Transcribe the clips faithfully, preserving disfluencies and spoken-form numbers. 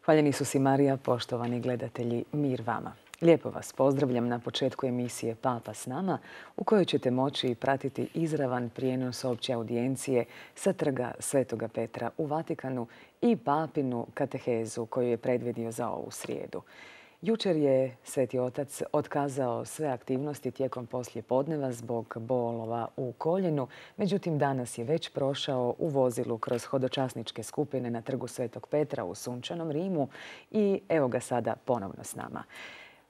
Hvaljeni Isus i Marija, poštovani gledatelji, mir vama. Lijepo vas pozdravljam na početku emisije Papa s nama, u kojoj ćete moći pratiti izravan prijenos opće audijencije sa trga Svetoga Petra u Vatikanu i papinu katehezu koju je predvidio za ovu srijedu. Jučer je Sveti Otac otkazao sve aktivnosti tijekom poslijepodneva zbog bolova u koljenu, međutim danas je već prošao u vozilu kroz hodočasničke skupine na trgu Svetog Petra u sunčanom Rimu i evo ga sada ponovno s nama.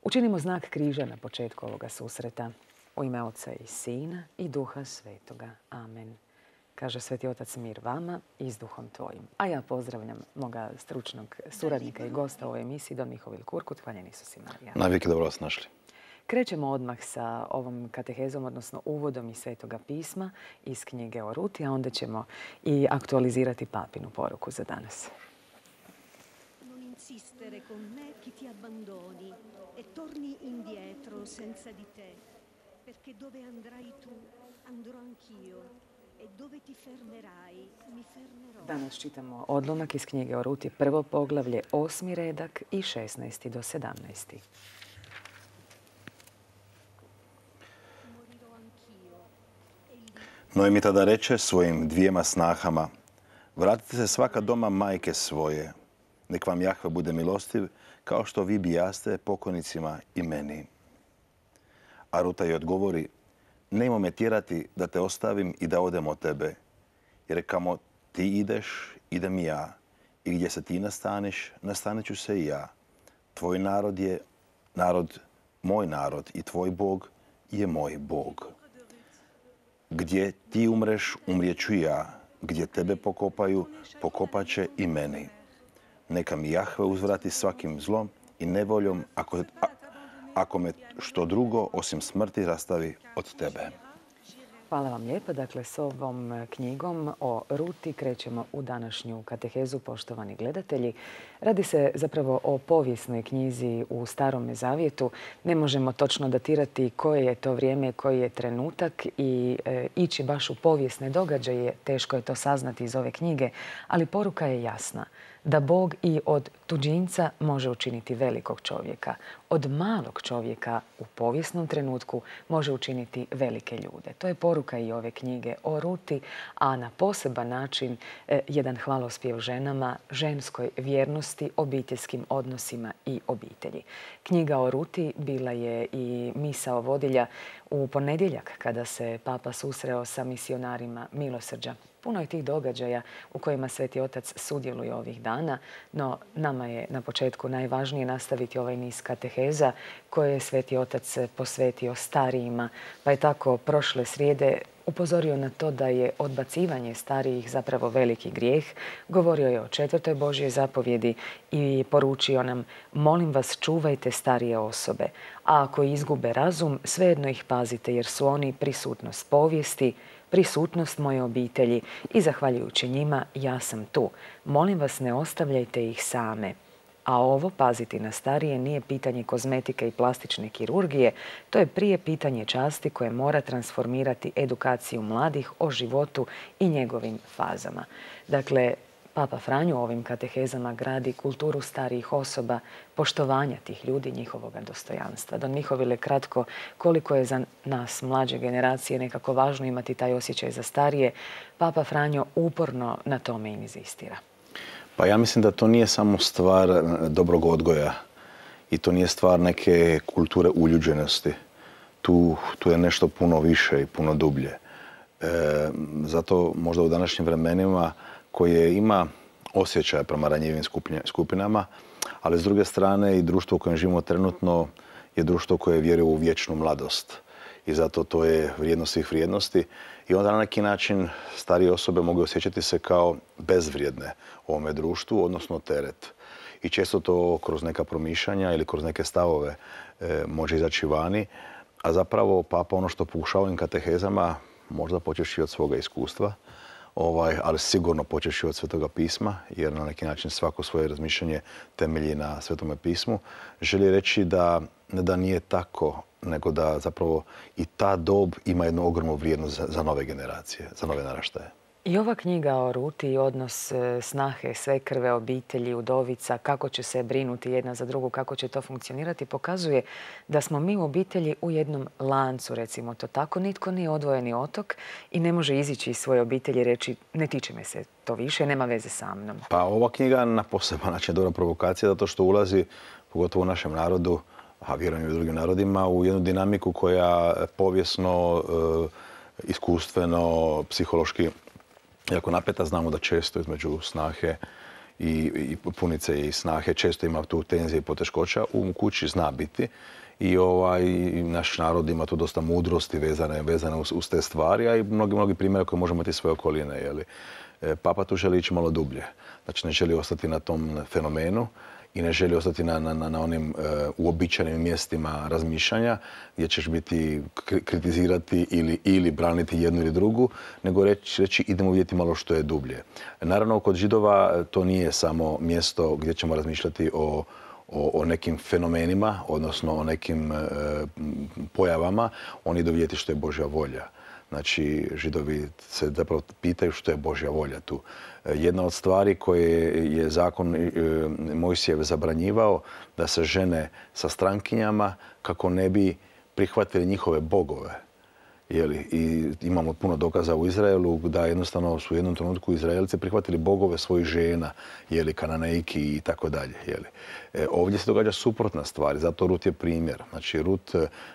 Učinimo znak križa na početku ovoga susreta. U ime Oca i Sina i Duha Svetoga. Amen. Kaže Sveti Otac, mir vama i s duhom tvojim. A ja pozdravljam moga stručnog suradnika i gosta u ovoj emisiji, don Mihovil Kurkut. Hvaljeni Isus i Marija. Navijek dobro vas našli. Krećemo odmah sa ovom katehezom, odnosno uvodom iz Svetoga pisma iz knjige o Ruti, a onda ćemo i aktualizirati papinu poruku za danas. Non insistere con me chi ti abbandoni e torni indietro senza di te, perché dove andrai tu andrò anch'io. Danas čitamo odlomak iz knjige o Ruti, prvo poglavlje, osmi redak i šesnaesti do sedamnaesti. Noemi tada reče svojim dvijema snahama: vratite se svaka doma majke svoje, nek vam Jahve bude milostiv, kao što vi bijaste pokojnicima i meni. A Ruta joj odgovori: nemoj me tjerati da te ostavim i da odem od tebe, jer kamo ti ideš, idem i ja, i gdje se ti nastaneš, nastanit ću se i ja. Tvoj narod je narod, moj narod, i tvoj Bog je moj Bog. Gdje ti umreš, umrijet ću i ja, gdje tebe pokopaju, pokopat će i meni. Neka mi Jahve uzvrati svakim zlom i nevoljom, ako, a, ako me što drugo osim smrti rastavi od tebe. Hvala vam lijepa. Dakle, s ovom knjigom o Ruti krećemo u današnju katehezu, poštovani gledatelji. Radi se zapravo o povijesnoj knjizi u Starome Zavjetu. Ne možemo točno datirati koje je to vrijeme, koji je trenutak i e, ići baš u povijesne događaje. Teško je to saznati iz ove knjige, ali poruka je jasna. Da Bog i od tuđinca može učiniti velikog čovjeka. Od malog čovjeka u povijesnom trenutku može učiniti velike ljude. To je poruka i ove knjige o Ruti, a na poseban način eh, jedan hvalospjev ženama, ženskoj vjernosti, obiteljskim odnosima i obitelji. Knjiga o Ruti bila je i misao vodilja u ponedjeljak kada se Papa susreo sa misionarima milosrđa. Puno je tih događaja u kojima Sveti Otac sudjeluje ovih dana, no nama je na početku najvažnije nastaviti ovaj niz kateheza koje je Sveti Otac posvetio starijima, pa je tako prošle srijede upozorio na to da je odbacivanje starijih zapravo veliki grijeh. Govorio je o četvrtoj Božjoj zapovjedi i poručio nam: molim vas, čuvajte starije osobe, a ako izgube razum, svejedno ih pazite, jer su oni prisutnost povijesti, prisutnost moje obitelji i zahvaljujući njima ja sam tu. Molim vas, ne ostavljajte ih same. A ovo, paziti na starije, nije pitanje kozmetike i plastične kirurgije, to je prije pitanje časti koje mora transformirati edukaciju mladih o životu i njegovim fazama. Dakle, Papa Franjo ovim katehezama gradi kulturu starijih osoba, poštovanja tih ljudi, njihovoga dostojanstva. Don Mihovile, kratko, koliko je za nas mlađe generacije nekako važno imati taj osjećaj za starije, Papa Franjo uporno na tome inzistira. Pa ja mislim da to nije samo stvar dobrog odgoja i to nije stvar neke kulture uljuđenosti. Tu, tu je nešto puno više i puno dublje. E, zato možda u današnjim vremenima koje ima osjećaja prema ranjivim skupinama, ali s druge strane i društvo u kojem živimo trenutno je društvo koje vjeruje u vječnu mladost. I zato to je vrijednost svih vrijednosti. I onda na neki način starije osobe mogu osjećati se kao bezvrijedne u ovome društvu, odnosno teret. I često to kroz neka promišljanja ili kroz neke stavove e, može izaći vani. A zapravo Papa ono što pokušava ovim katehezama, možda počeši od svoga iskustva, Ovaj, ali sigurno počeši od Svetoga pisma, jer na neki način svako svoje razmišljanje temelji na Svetome pismu, želi reći da ne da nije tako, nego da zapravo i ta dob ima jednu ogromnu vrijednost za, za nove generacije, za nove naraštaje. I ova knjiga o Ruti i odnos snahe, svekrve, obitelji, udovica, kako će se brinuti jedna za drugu, kako će to funkcionirati, pokazuje da smo mi u obitelji u jednom lancu, recimo to tako. Nitko nije odvojeni otok i ne može izići iz svoje obitelji i reći ne tiče me se to više, nema veze sa mnom. Pa ova knjiga na poseban način je dobra provokacija zato što ulazi, pogotovo u našem narodu, a vjerujem i u drugim narodima, u jednu dinamiku koja povijesno, iskustveno, psihološki jako napeta. Znamo da često između snahe i, i punice i snahe često ima tu tenzije i poteškoća. U kući zna biti i ovaj, naš narod ima tu dosta mudrosti vezane, vezane uz, uz te stvari, a i mnogi, mnogi primjere koje možemo imati svoje okoline. Jeli. Papa tu želi ići malo dublje. Znači ne želi ostati na tom fenomenu i ne želi ostati na, na, na onim uh, uobičajenim mjestima razmišljanja gdje ćeš biti kritizirati ili, ili braniti jednu ili drugu, nego reći, reći idemo vidjeti malo što je dublje. Naravno, kod Židova to nije samo mjesto gdje ćemo razmišljati o, o, o nekim fenomenima, odnosno o nekim uh, pojavama. Oni idu vidjeti što je Božja volja. Znači, Židovi se zapravo pitaju što je Božja volja tu. Jedna od stvari koje je zakon Mojsijev zabranjivao, da se žene sa strankinjama kako ne bi prihvatili njihove bogove. Jeli? I imamo puno dokaza u Izraelu da jednostavno su u jednom trenutku Izraelci prihvatili bogove svojih žena, jeli, Kananejki i tako dalje. E, ovdje se događa suprotna stvar, zato Rut je primjer. Znači, Rut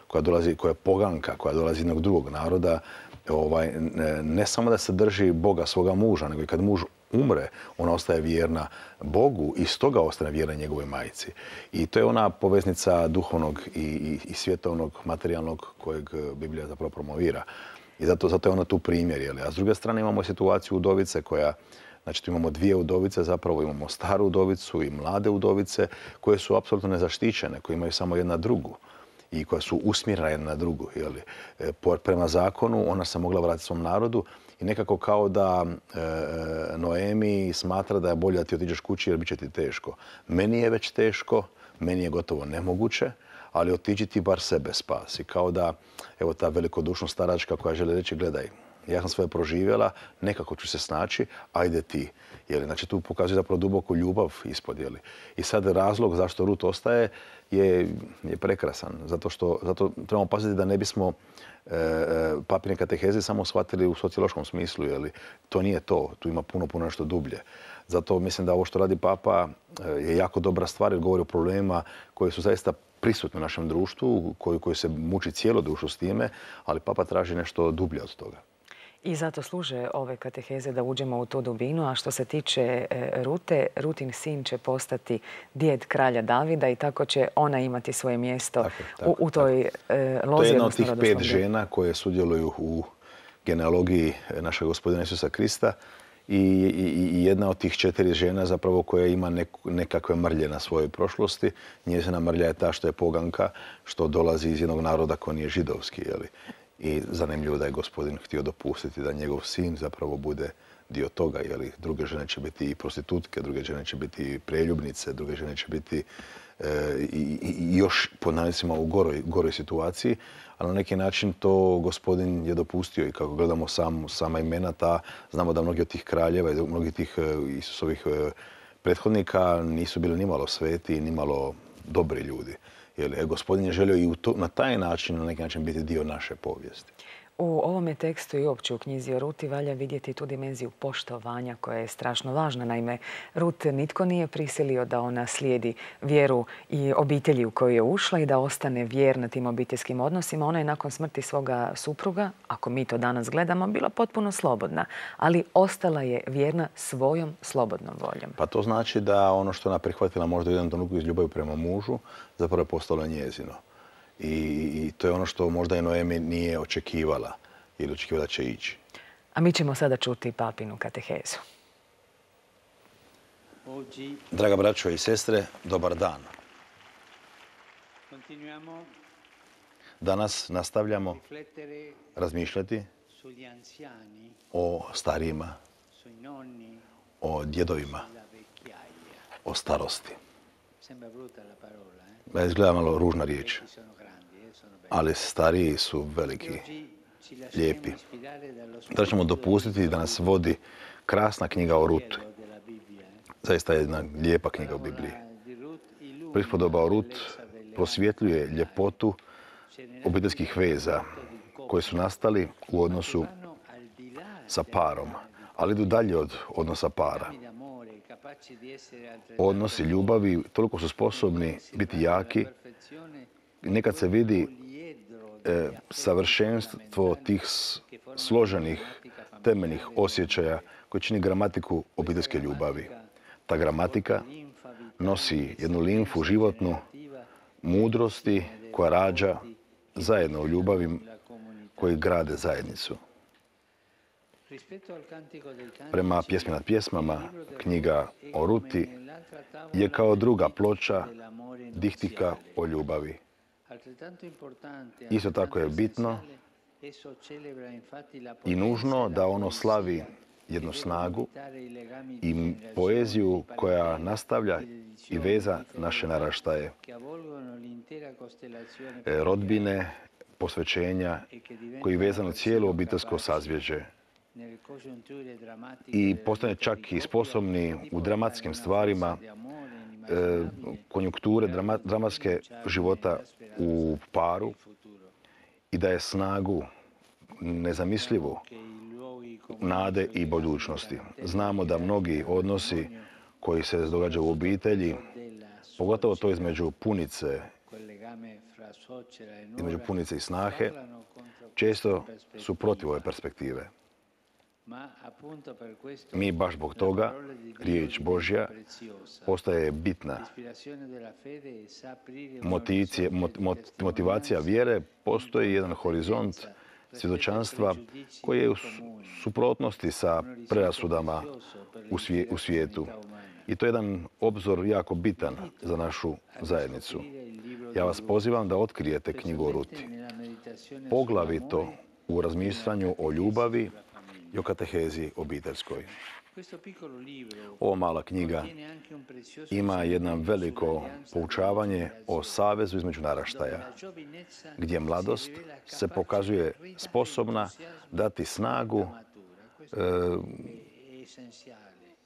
koja dolazi, koja je poganka, koja dolazi iz jednog drugog naroda, ovaj, ne, ne samo da se drži Boga svoga muža, nego i kad muž umre, ona ostaje vjerna Bogu i stoga ostane vjerna njegovoj majci. I to je ona poveznica duhovnog i, i, i svjetovnog, materijalnog kojeg Biblija zapravo promovira. I zato, zato je ona tu primjer. Jeli? A s druge strane imamo situaciju udovice koja, znači tu imamo dvije udovice, zapravo imamo staru udovicu i mlade udovice koje su apsolutno nezaštićene, koje imaju samo jedna drugu i koja su usmjerena jedna na drugu. Jeli? Prema zakonu ona se mogla vratiti svom narodu i nekako kao da e, Noemi smatra da je bolje da ti otiđeš kući jer bit će ti teško. Meni je već teško, meni je gotovo nemoguće, ali otiđi ti bar sebe spasi. Kao da, evo ta velikodušna staračka koja želi reći, gledaj, ja sam svoje proživjela, nekako ću se snaći, ajde ti. Jeli, znači tu pokazuje zapravo duboku ljubav ispod. Jeli. I sad razlog zašto Rut ostaje je, je prekrasan. Zato što zato trebamo paziti da ne bismo e, papine kateheze samo shvatili u sociološkom smislu. Jeli. To nije to. Tu ima puno, puno nešto dublje. Zato mislim da ovo što radi Papa je jako dobra stvar jer govori o problemima koji su zaista prisutni u našem društvu, koji, koji se muči cijelo društvo s time, ali Papa traži nešto dublje od toga. I zato služe ove kateheze da uđemo u tu dubinu. A što se tiče Rute, Rutin sin će postati djed kralja Davida i tako će ona imati svoje mjesto tako, tako, u, u toj tako. lozi. To je jedna od tih pet žena koje sudjeluju u genealogiji našeg Gospodina Isusa Krista i, i, i jedna od tih četiri žena zapravo koja ima nek, nekakve mrlje na svojoj prošlosti. Njezina mrlja je ta što je poganka, što dolazi iz jednog naroda koji nije židovski. Jeli? I zanimljivo da je Gospodin htio dopustiti da njegov sin zapravo bude dio toga. Jeli, druge žene će biti i prostitutke, druge žene će biti i preljubnice, druge žene će biti e, i, i još pod navodnicima u goroj, goroj situaciji. Ali na neki način to Gospodin je dopustio i kako gledamo sam, sama imena ta, znamo da mnogi od tih kraljeva i mnogi tih Isusovih prethodnika nisu bili nimalo sveti, nimalo dobri ljudi. Jer Gospodin je želio i to, na taj način, na neki način biti dio naše povijesti. U ovome tekstu i uopće u knjizi o Ruti valja vidjeti tu dimenziju poštovanja koja je strašno važna. Naime, Rut nitko nije prisilio da ona slijedi vjeru i obitelji u koju je ušla i da ostane vjerna tim obiteljskim odnosima. Ona je nakon smrti svoga supruga, ako mi to danas gledamo, bila potpuno slobodna, ali ostala je vjerna svojom slobodnom voljom. Pa to znači da ono što ona prihvatila možda u jednom trenutku iz ljubavi prema mužu, zapravo je postalo njezino. I, I to je ono što možda i Noemi nije očekivala ili očekivala da će ići. A mi ćemo sada čuti papinu katehezu. Draga braćo i sestre, dobar dan. Danas nastavljamo razmišljati o starijima, o djedovima, o starosti. Izgleda malo ružna riječ, ali stariji su veliki. lijepi. Da ćemo dopustiti da nas vodi krasna knjiga o Ruti. Zaista je jedna lijepa knjiga u Bibliji. Prispodoba o Rut prosvjetljuje ljepotu obiteljskih veza koji su nastali u odnosu sa parom, ali idu dalje od odnosa para. Odnosi ljubavi toliko su sposobni biti jaki i nekad se vidi e, savršenstvo tih složenih temeljnih osjećaja koji čini gramatiku obiteljske ljubavi. Ta gramatika nosi jednu limfu životnu mudrosti koja rađa zajedno u ljubavi koji grade zajednicu. Prema Pjesmi nad pjesmama, knjiga o Ruti je kao druga ploča dihtika o ljubavi. Isto tako je bitno i nužno da ono slavi jednu snagu i poeziju koja nastavlja i veza naše naraštaje, rodbine, posvećenja koji je vezano cijelo obiteljsko sazvježđe i postane čak i sposobni u dramatskim stvarima e, konjunkture drama, dramatske života u paru i daje snagu nezamislivu nade i budućnosti. Znamo da mnogi odnosi koji se događaju u obitelji, pogotovo to između punice, između punice i snahe, često su protiv ove perspektive. Mi baš zbog toga, riječ Božja postaje bitna. Motivacija, motivacija vjere postoji jedan horizont svjedočanstva koji je u suprotnosti sa predrasudama u svijetu. I to je jedan obzor jako bitan za našu zajednicu. Ja vas pozivam da otkrijete knjigu o Ruti. Poglavito u razmišljanju o ljubavi i o katehezi obiteljskoj. Ova mala knjiga ima jedno veliko poučavanje o savezu između naraštaja, gdje mladost se pokazuje sposobna dati snagu e,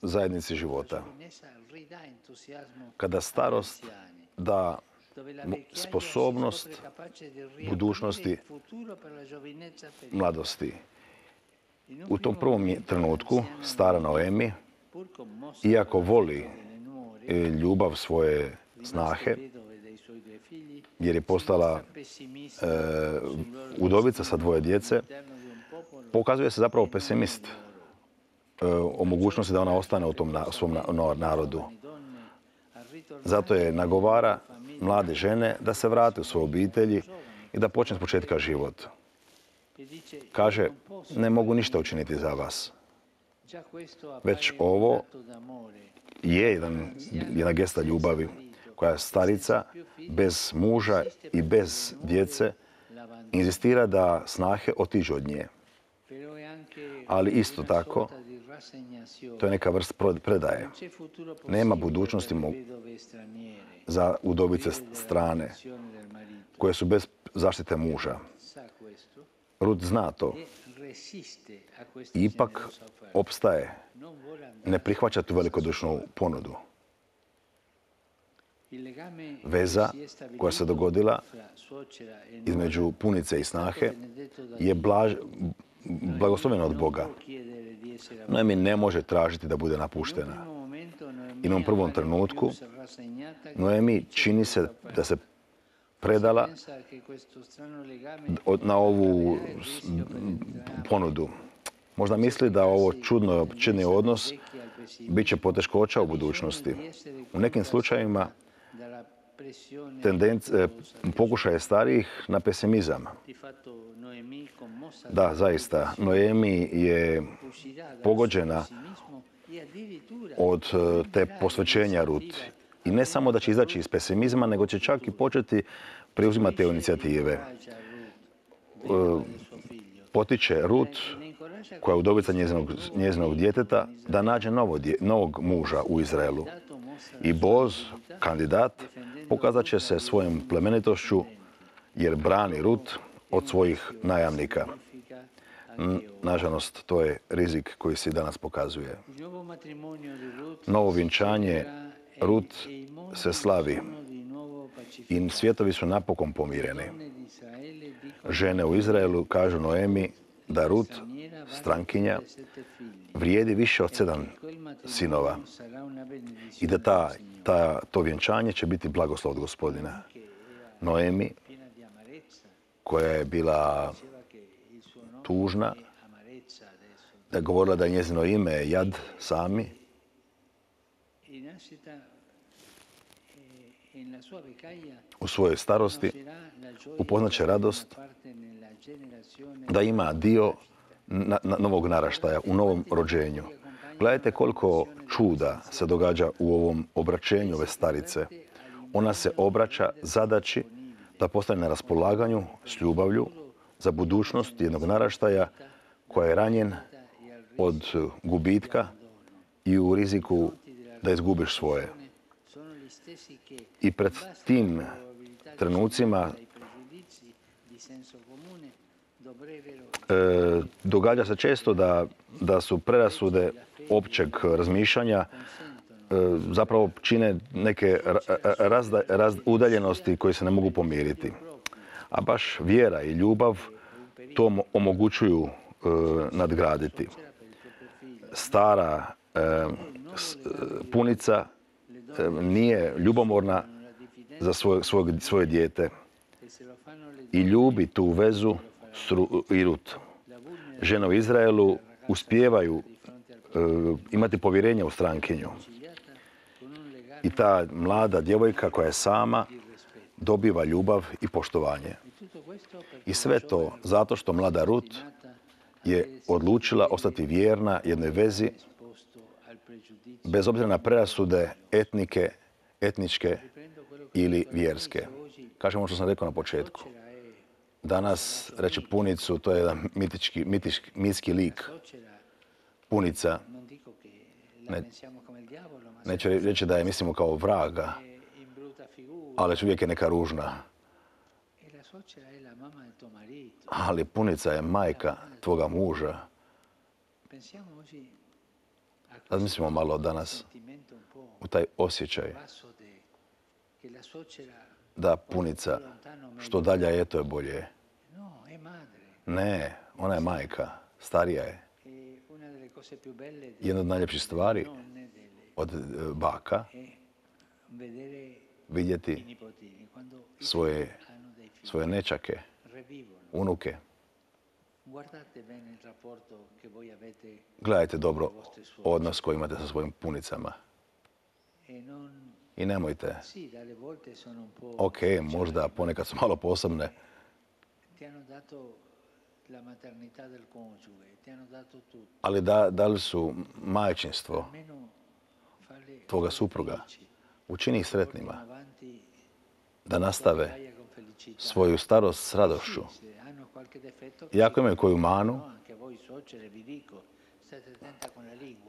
zajednici života. Kada starost da sposobnost budućnosti mladosti. U tom prvom trenutku stara Noemi, iako voli ljubav svoje snahe, jer je postala e, udovica sa dvoje djece, pokazuje se zapravo pesimist e, o mogućnosti da ona ostane u tom na, svom na, narodu. Zato je nagovara mlade žene da se vrate u svoje obitelji i da počne s početka život. Kaže, ne mogu ništa učiniti za vas. Već ovo je jedan, jedna gesta ljubavi koja starica bez muža i bez djece inzistira da snahe otiđu od nje. Ali isto tako, to je neka vrst predaje. Nema budućnosti za udovice strane koje su bez zaštite muža. Rut zna to. Ipak opstaje. Ne prihvaća tu velikodušnu ponudu. Veza koja se dogodila između punice i snahe je blaž, blagoslovljena od Boga. Noemi ne može tražiti da bude napuštena. I na prvom trenutku Noemi čini se da se predala na ovu ponudu. Možda misli da ovo čudno, čudni odnos bit će poteškoća u budućnosti. U nekim slučajevima tendencija, pokušaje starijih na pesimizam. Da, zaista, Noemi je pogođena od te posvećenja Rut. I ne samo da će izaći iz pesimizma, nego će čak i početi preuzimati te inicijative. Potiče Rut, koja je udovica njezinog, njezinog djeteta, da nađe novo, novog muža u Izraelu. I Boz, kandidat, pokazat će se svojom plemenitošću jer brani Rut od svojih najamnika. Nažalost, to je rizik koji se danas pokazuje. Novo vjenčanje Rut se slavi i svijetovi su napokon pomireni. Žene u Izraelu kažu Noemi da Rut, strankinja, vrijedi više od sedam sinova i da ta, ta, to vjenčanje će biti blagoslov od Gospodina. Noemi, koja je bila tužna, da je govorila da je njezino ime Jad sami, u svojoj starosti upoznaće radost da ima dio na, na novog naraštaja, u novom rođenju. Gledajte koliko čuda se događa u ovom obraćenju ove starice. Ona se obraća zadaći da postane na raspolaganju s ljubavlju za budućnost jednog naraštaja koja je ranjen od gubitka i u riziku da izgubiš svoje. I pred tim trenucima e, događa se često da, da su prerasude općeg razmišljanja e, zapravo čine neke razda, raz, udaljenosti koje se ne mogu pomiriti. A baš vjera i ljubav to omogućuju e, nadgraditi. Stara e, s, punica e, nije ljubomorna za svoje, svoje, svoje dijete i ljubi tu vezu s i Rut. Žene u Izraelu uspijevaju e, imati povjerenje u strankinju. I ta mlada djevojka koja je sama dobiva ljubav i poštovanje. I sve to zato što mlada Rut je odlučila ostati vjerna jednoj vezi bez obzira na prerasude etnike, etničke ili vjerske. Kažemo što sam rekao na početku. Danas reći punicu, to je jedan mitički, mitički, mitski lik. Punica. Ne, neću reći da je mislimo kao vraga, ali uvijek je neka ružna. Ali punica je majka tvoga muža. Razmislimo malo danas u taj osjećaj da punica što dalje je, to je bolje. Ne, ona je majka, starija je. Jedna od najljepših stvari od baka vidjeti svoje, svoje nečake, unuke. Gledajte dobro odnos koji imate sa svojim punicama. I nemojte. Ok, možda ponekad su malo posebne. Ali da, da li su majčinstvo tvoga supruga? Učini ih sretnima. Da nastave svoju starost s radošću. I ako imaju koju manu,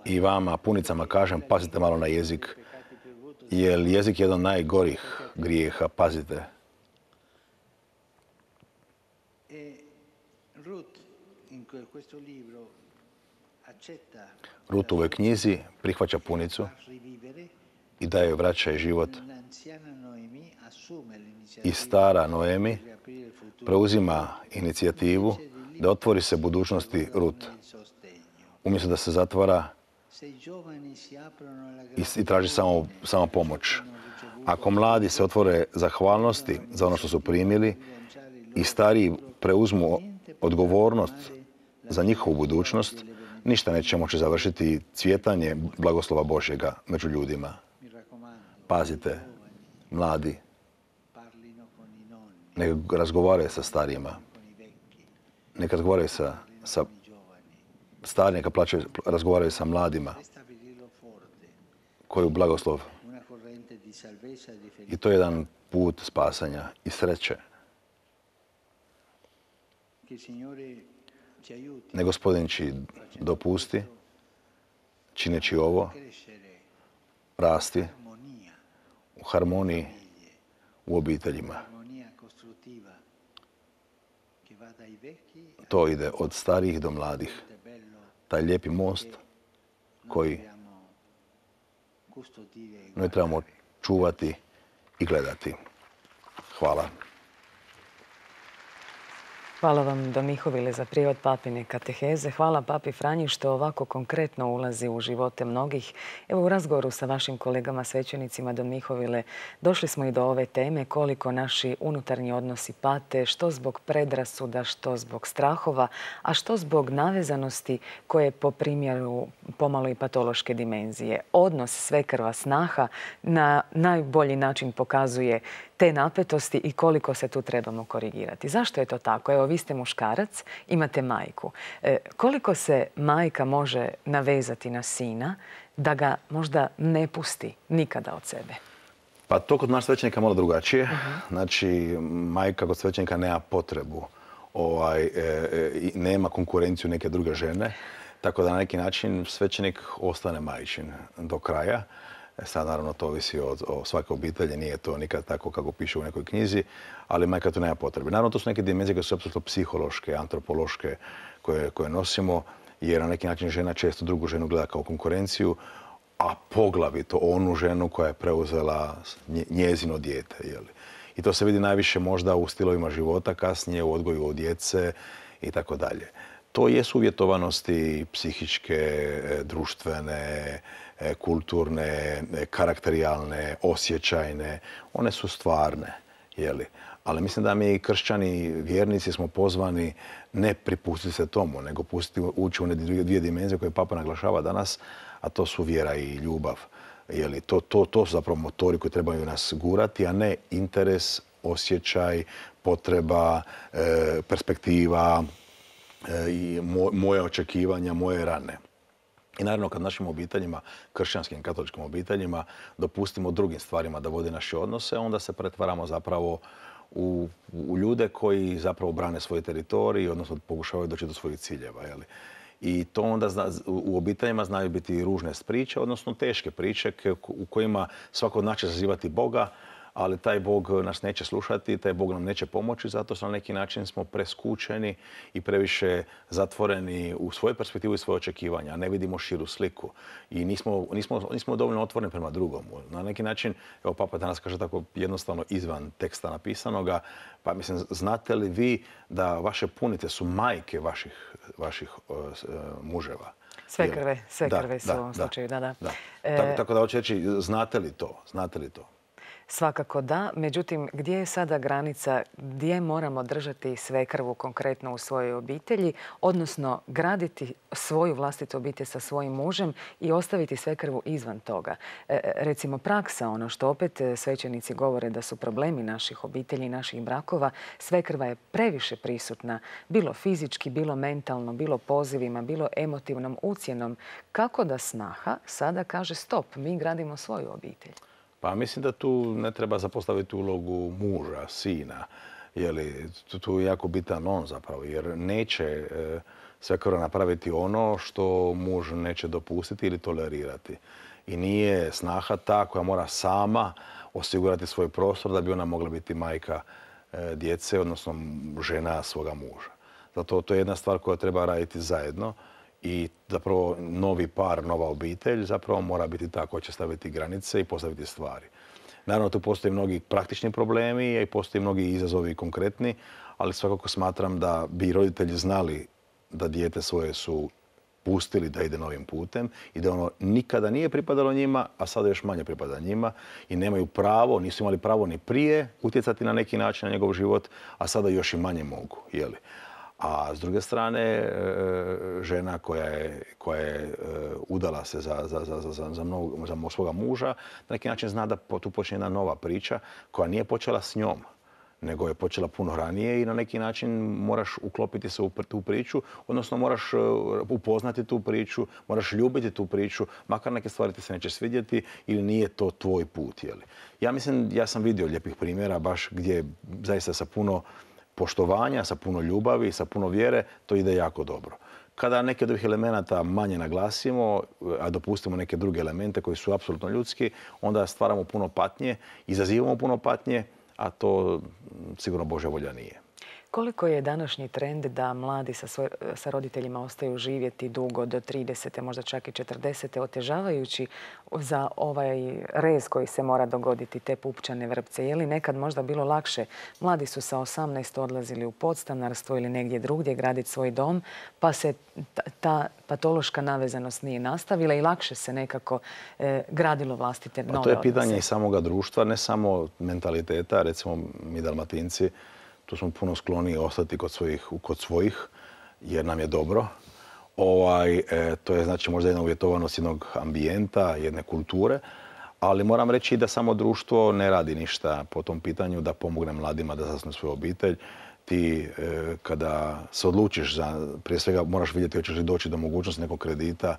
i vama, punicama, kažem, pazite malo na jezik, jer jezik je jedan od najgorih grijeha, pazite. Rut u ovoj knjizi prihvaća punicu i daje joj vraća i život. I stara Noemi preuzima inicijativu da otvori se budućnosti Rut. Umjesto da se zatvara i traži samo, samo pomoć. Ako mladi se otvore zahvalnosti za ono što su primili i stariji preuzmu odgovornost za njihovu budućnost, ništa neće moći završiti cvjetanje blagoslova Božjega među ljudima. Pazite, mladi, neka razgovaraju sa starijima, neka razgovaraju sa, sa stariji, neka plaćaju, razgovaraju sa mladima koji je blagoslov. I to je jedan put spasanja i sreće. Ne Gospodin će dopusti, čineći ovo, rasti u harmoniji u obiteljima. To ide od starijih do mladih. Taj lijepi most koji noi trebamo čuvati i gledati. Hvala. Hvala vam, Don Mihovile, za prijevod papine kateheze. Hvala papi Franji što ovako konkretno ulazi u živote mnogih. Evo, u razgovoru sa vašim kolegama svećenicima, Don Mihovile, došli smo i do ove teme koliko naši unutarnji odnosi pate, što zbog predrasuda, što zbog strahova, a što zbog navezanosti koje po primjeru pomalo i patološke dimenzije. Odnos svekrva snaha na najbolji način pokazuje te napetosti i koliko se tu trebamo korigirati. Zašto je to tako? Evo, vi ste muškarac, imate majku. E, koliko se majka može navezati na sina da ga možda ne pusti nikada od sebe? Pa to kod nas svećenika malo drugačije. Znači, majka kod svećenika nema potrebu, ovaj, e, e, nema konkurenciju neke druge žene, tako da na neki način svećenik ostane majčin do kraja. Sad naravno to ovisi od, o svake obitelji, nije to nikad tako kako piše u nekoj knjizi, ali majka tu nema potrebe. Naravno to su neke dimenzije koje su apsolutno psihološke, antropološke koje, koje nosimo, jer na neki način žena često drugu ženu gleda kao konkurenciju, a poglavito onu ženu koja je preuzela njezino dijete. Jeli? I to se vidi najviše možda u stilovima života, kasnije u odgoju od djece i tako dalje. To jesu uvjetovanosti psihičke, društvene, kulturne, karakterijalne, osjećajne. One su stvarne, jeli? Ali mislim da mi kršćani, vjernici smo pozvani ne pripustiti se tomu, nego pustiti ući u one dvije dimenzije koje Papa naglašava danas, a to su vjera i ljubav. Jeli? To, to, to su zapravo motori koji trebaju nas gurati, a ne interes, osjećaj, potreba, e, perspektiva, i moje očekivanja, moje rane. I naravno kad našim obiteljima, kršćanskim, katoličkim obiteljima, dopustimo drugim stvarima da vode naše odnose, onda se pretvaramo zapravo u, u ljude koji zapravo brane svoj teritorij, odnosno pokušavaju doći do svojih ciljeva. Jeli? I to onda zna, u obiteljima znaju biti ružne priče, odnosno teške priče u kojima svako od nas će zazivati Boga, ali taj Bog nas neće slušati, taj Bog nam neće pomoći, zato što na neki način smo preskučeni i previše zatvoreni u svoju perspektivu i svoje očekivanja. Ne vidimo širu sliku i nismo, nismo, nismo dovoljno otvoreni prema drugom. Na neki način, evo Papa danas kaže tako jednostavno izvan teksta napisanoga, pa mislim, znate li vi da vaše punice su majke vaših, vaših uh, muževa? Sve krve, sve krve su u ovom slučaju, da, da. da. E... Tako, tako da hoću reći, znate li to? Znate li to? Svakako da, međutim, gdje je sada granica, gdje moramo držati svekrvu konkretno u svojoj obitelji, odnosno graditi svoju vlastitu obitelj sa svojim mužem i ostaviti svekrvu izvan toga. E, recimo praksa, ono što opet svećenici govore da su problemi naših obitelji, naših brakova, svekrva je previše prisutna, bilo fizički, bilo mentalno, bilo pozivima, bilo emotivnom ucjenom. Kako da snaha sada kaže stop, mi gradimo svoju obitelj? Pa mislim da tu ne treba zapostaviti ulogu muža, sina. Jeli, tu je jako bitan on zapravo, jer neće e, svekrva napraviti ono što muž neće dopustiti ili tolerirati. I nije snaha ta koja mora sama osigurati svoj prostor da bi ona mogla biti majka e, djece, odnosno žena svoga muža. Zato to je jedna stvar koja treba raditi zajedno. I zapravo novi par, nova obitelj zapravo mora biti ta koja će staviti granice i postaviti stvari. Naravno, tu postoje mnogi praktični problemi i postoje mnogi izazovi konkretni, ali svakako smatram da bi roditelji znali da dijete svoje su pustili da ide novim putem i da ono nikada nije pripadalo njima, a sada još manje pripada njima i nemaju pravo, nisu imali pravo ni prije utjecati na neki način na njegov život, a sada još i manje mogu. Jeli? A s druge strane, žena koja je, koja je udala se za, za, za, za, za, mnogo, za svoga muža, na neki način zna da tu počne jedna nova priča koja nije počela s njom, nego je počela puno ranije i na neki način moraš uklopiti se u tu priču, odnosno moraš upoznati tu priču, moraš ljubiti tu priču, makar neke stvari ti se neće svidjeti ili nije to tvoj put. Jeli. Ja mislim, ja sam vidio lijepih primjera baš gdje zaista sa puno poštovanja, sa puno ljubavi, sa puno vjere, to ide jako dobro. Kada neke od ovih elemenata manje naglasimo, a dopustimo neke druge elemente koji su apsolutno ljudski, onda stvaramo puno patnje, izazivamo puno patnje, a to sigurno Božja volja nije. Koliko je današnji trend da mladi sa, svoj, sa roditeljima ostaju živjeti dugo do tridesete, možda čak i četrdesete, otežavajući za ovaj rez koji se mora dogoditi, te pupčane vrpce? Je li nekad možda bilo lakše? Mladi su sa osamnaest odlazili u podstanarstvo ili negdje drugdje graditi svoj dom, pa se ta, ta patološka navezanost nije nastavila i lakše se nekako e, gradilo vlastite nove odnose. To je pitanje i samoga društva, ne samo mentaliteta. Recimo mi Dalmatinci, tu smo puno skloniji ostati kod svojih, kod svojih jer nam je dobro. Ovaj, e, to je znači možda jedna uvjetovanost jednog ambijenta, jedne kulture, ali moram reći da samo društvo ne radi ništa po tom pitanju da pomogne mladima da zasnuju svoju obitelj. Ti e, kada se odlučiš za, prije svega moraš vidjeti hoćeš li doći do mogućnosti nekog kredita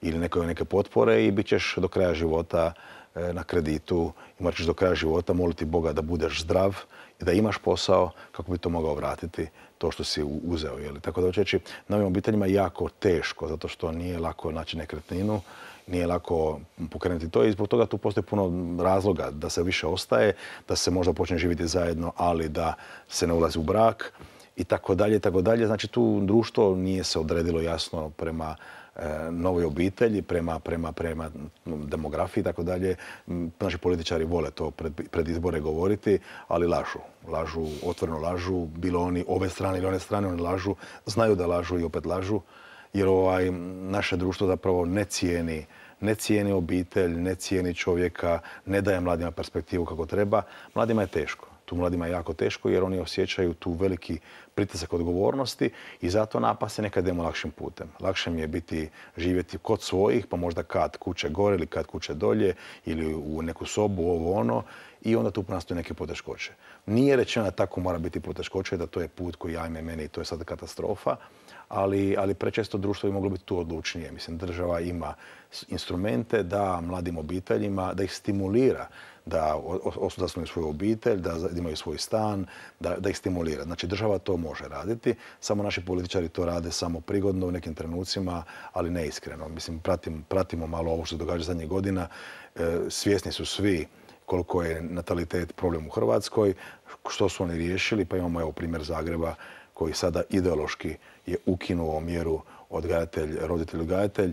ili neke, neke potpore i bit ćeš do kraja života e, na kreditu i morat ćeš do kraja života moliti Boga da budeš zdrav i da imaš posao kako bi to mogao vratiti to što si uzeo. Jeli? Tako da hoću reći, novim obiteljima je jako teško zato što nije lako naći nekretninu, nije lako pokrenuti to i zbog toga tu postoji puno razloga da se više ostaje, da se možda počne živjeti zajedno, ali da se ne ulazi u brak i tako dalje i tako dalje. Znači tu društvo nije se odredilo jasno prema e, novoj obitelji, prema, prema, prema demografiji i tako dalje. Naši političari vole to pred, pred izbore govoriti, ali lažu. Lažu, otvoreno lažu, bilo oni ove strane ili one strane, oni lažu, znaju da lažu i opet lažu. Jer ovaj, naše društvo zapravo ne cijeni, ne cijeni obitelj, ne cijeni čovjeka, ne daje mladima perspektivu kako treba. Mladima je teško. Tu mladima je jako teško jer oni osjećaju tu veliki pritisak odgovornosti i zato napasti nekad idemo lakšim putem. Lakše mi je biti, živjeti kod svojih, pa možda kad kuće gore ili kad kuće dolje ili u neku sobu, ovo ono, i onda tu nastaju neke poteškoće. Nije rečeno da tako mora biti poteškoće, da to je put koji ajme mene i to je sad katastrofa, ali, ali prečesto društvo bi moglo biti tu odlučnije. Mislim, država instrumente da mladim obiteljima, da ih stimulira da zasnuju svoju obitelj, da imaju svoj stan, da, da ih stimulira. Znači država to može raditi, samo naši političari to rade samo prigodno u nekim trenucima, ali ne iskreno. Mislim, pratim, pratimo malo ovo što se događa zadnjih godina. E, svjesni su svi koliko je natalitet problem u Hrvatskoj, što su oni riješili, pa imamo evo primjer Zagreba koji sada ideološki je ukinuo mjeru odgajatelj, roditelj, odgajatelj,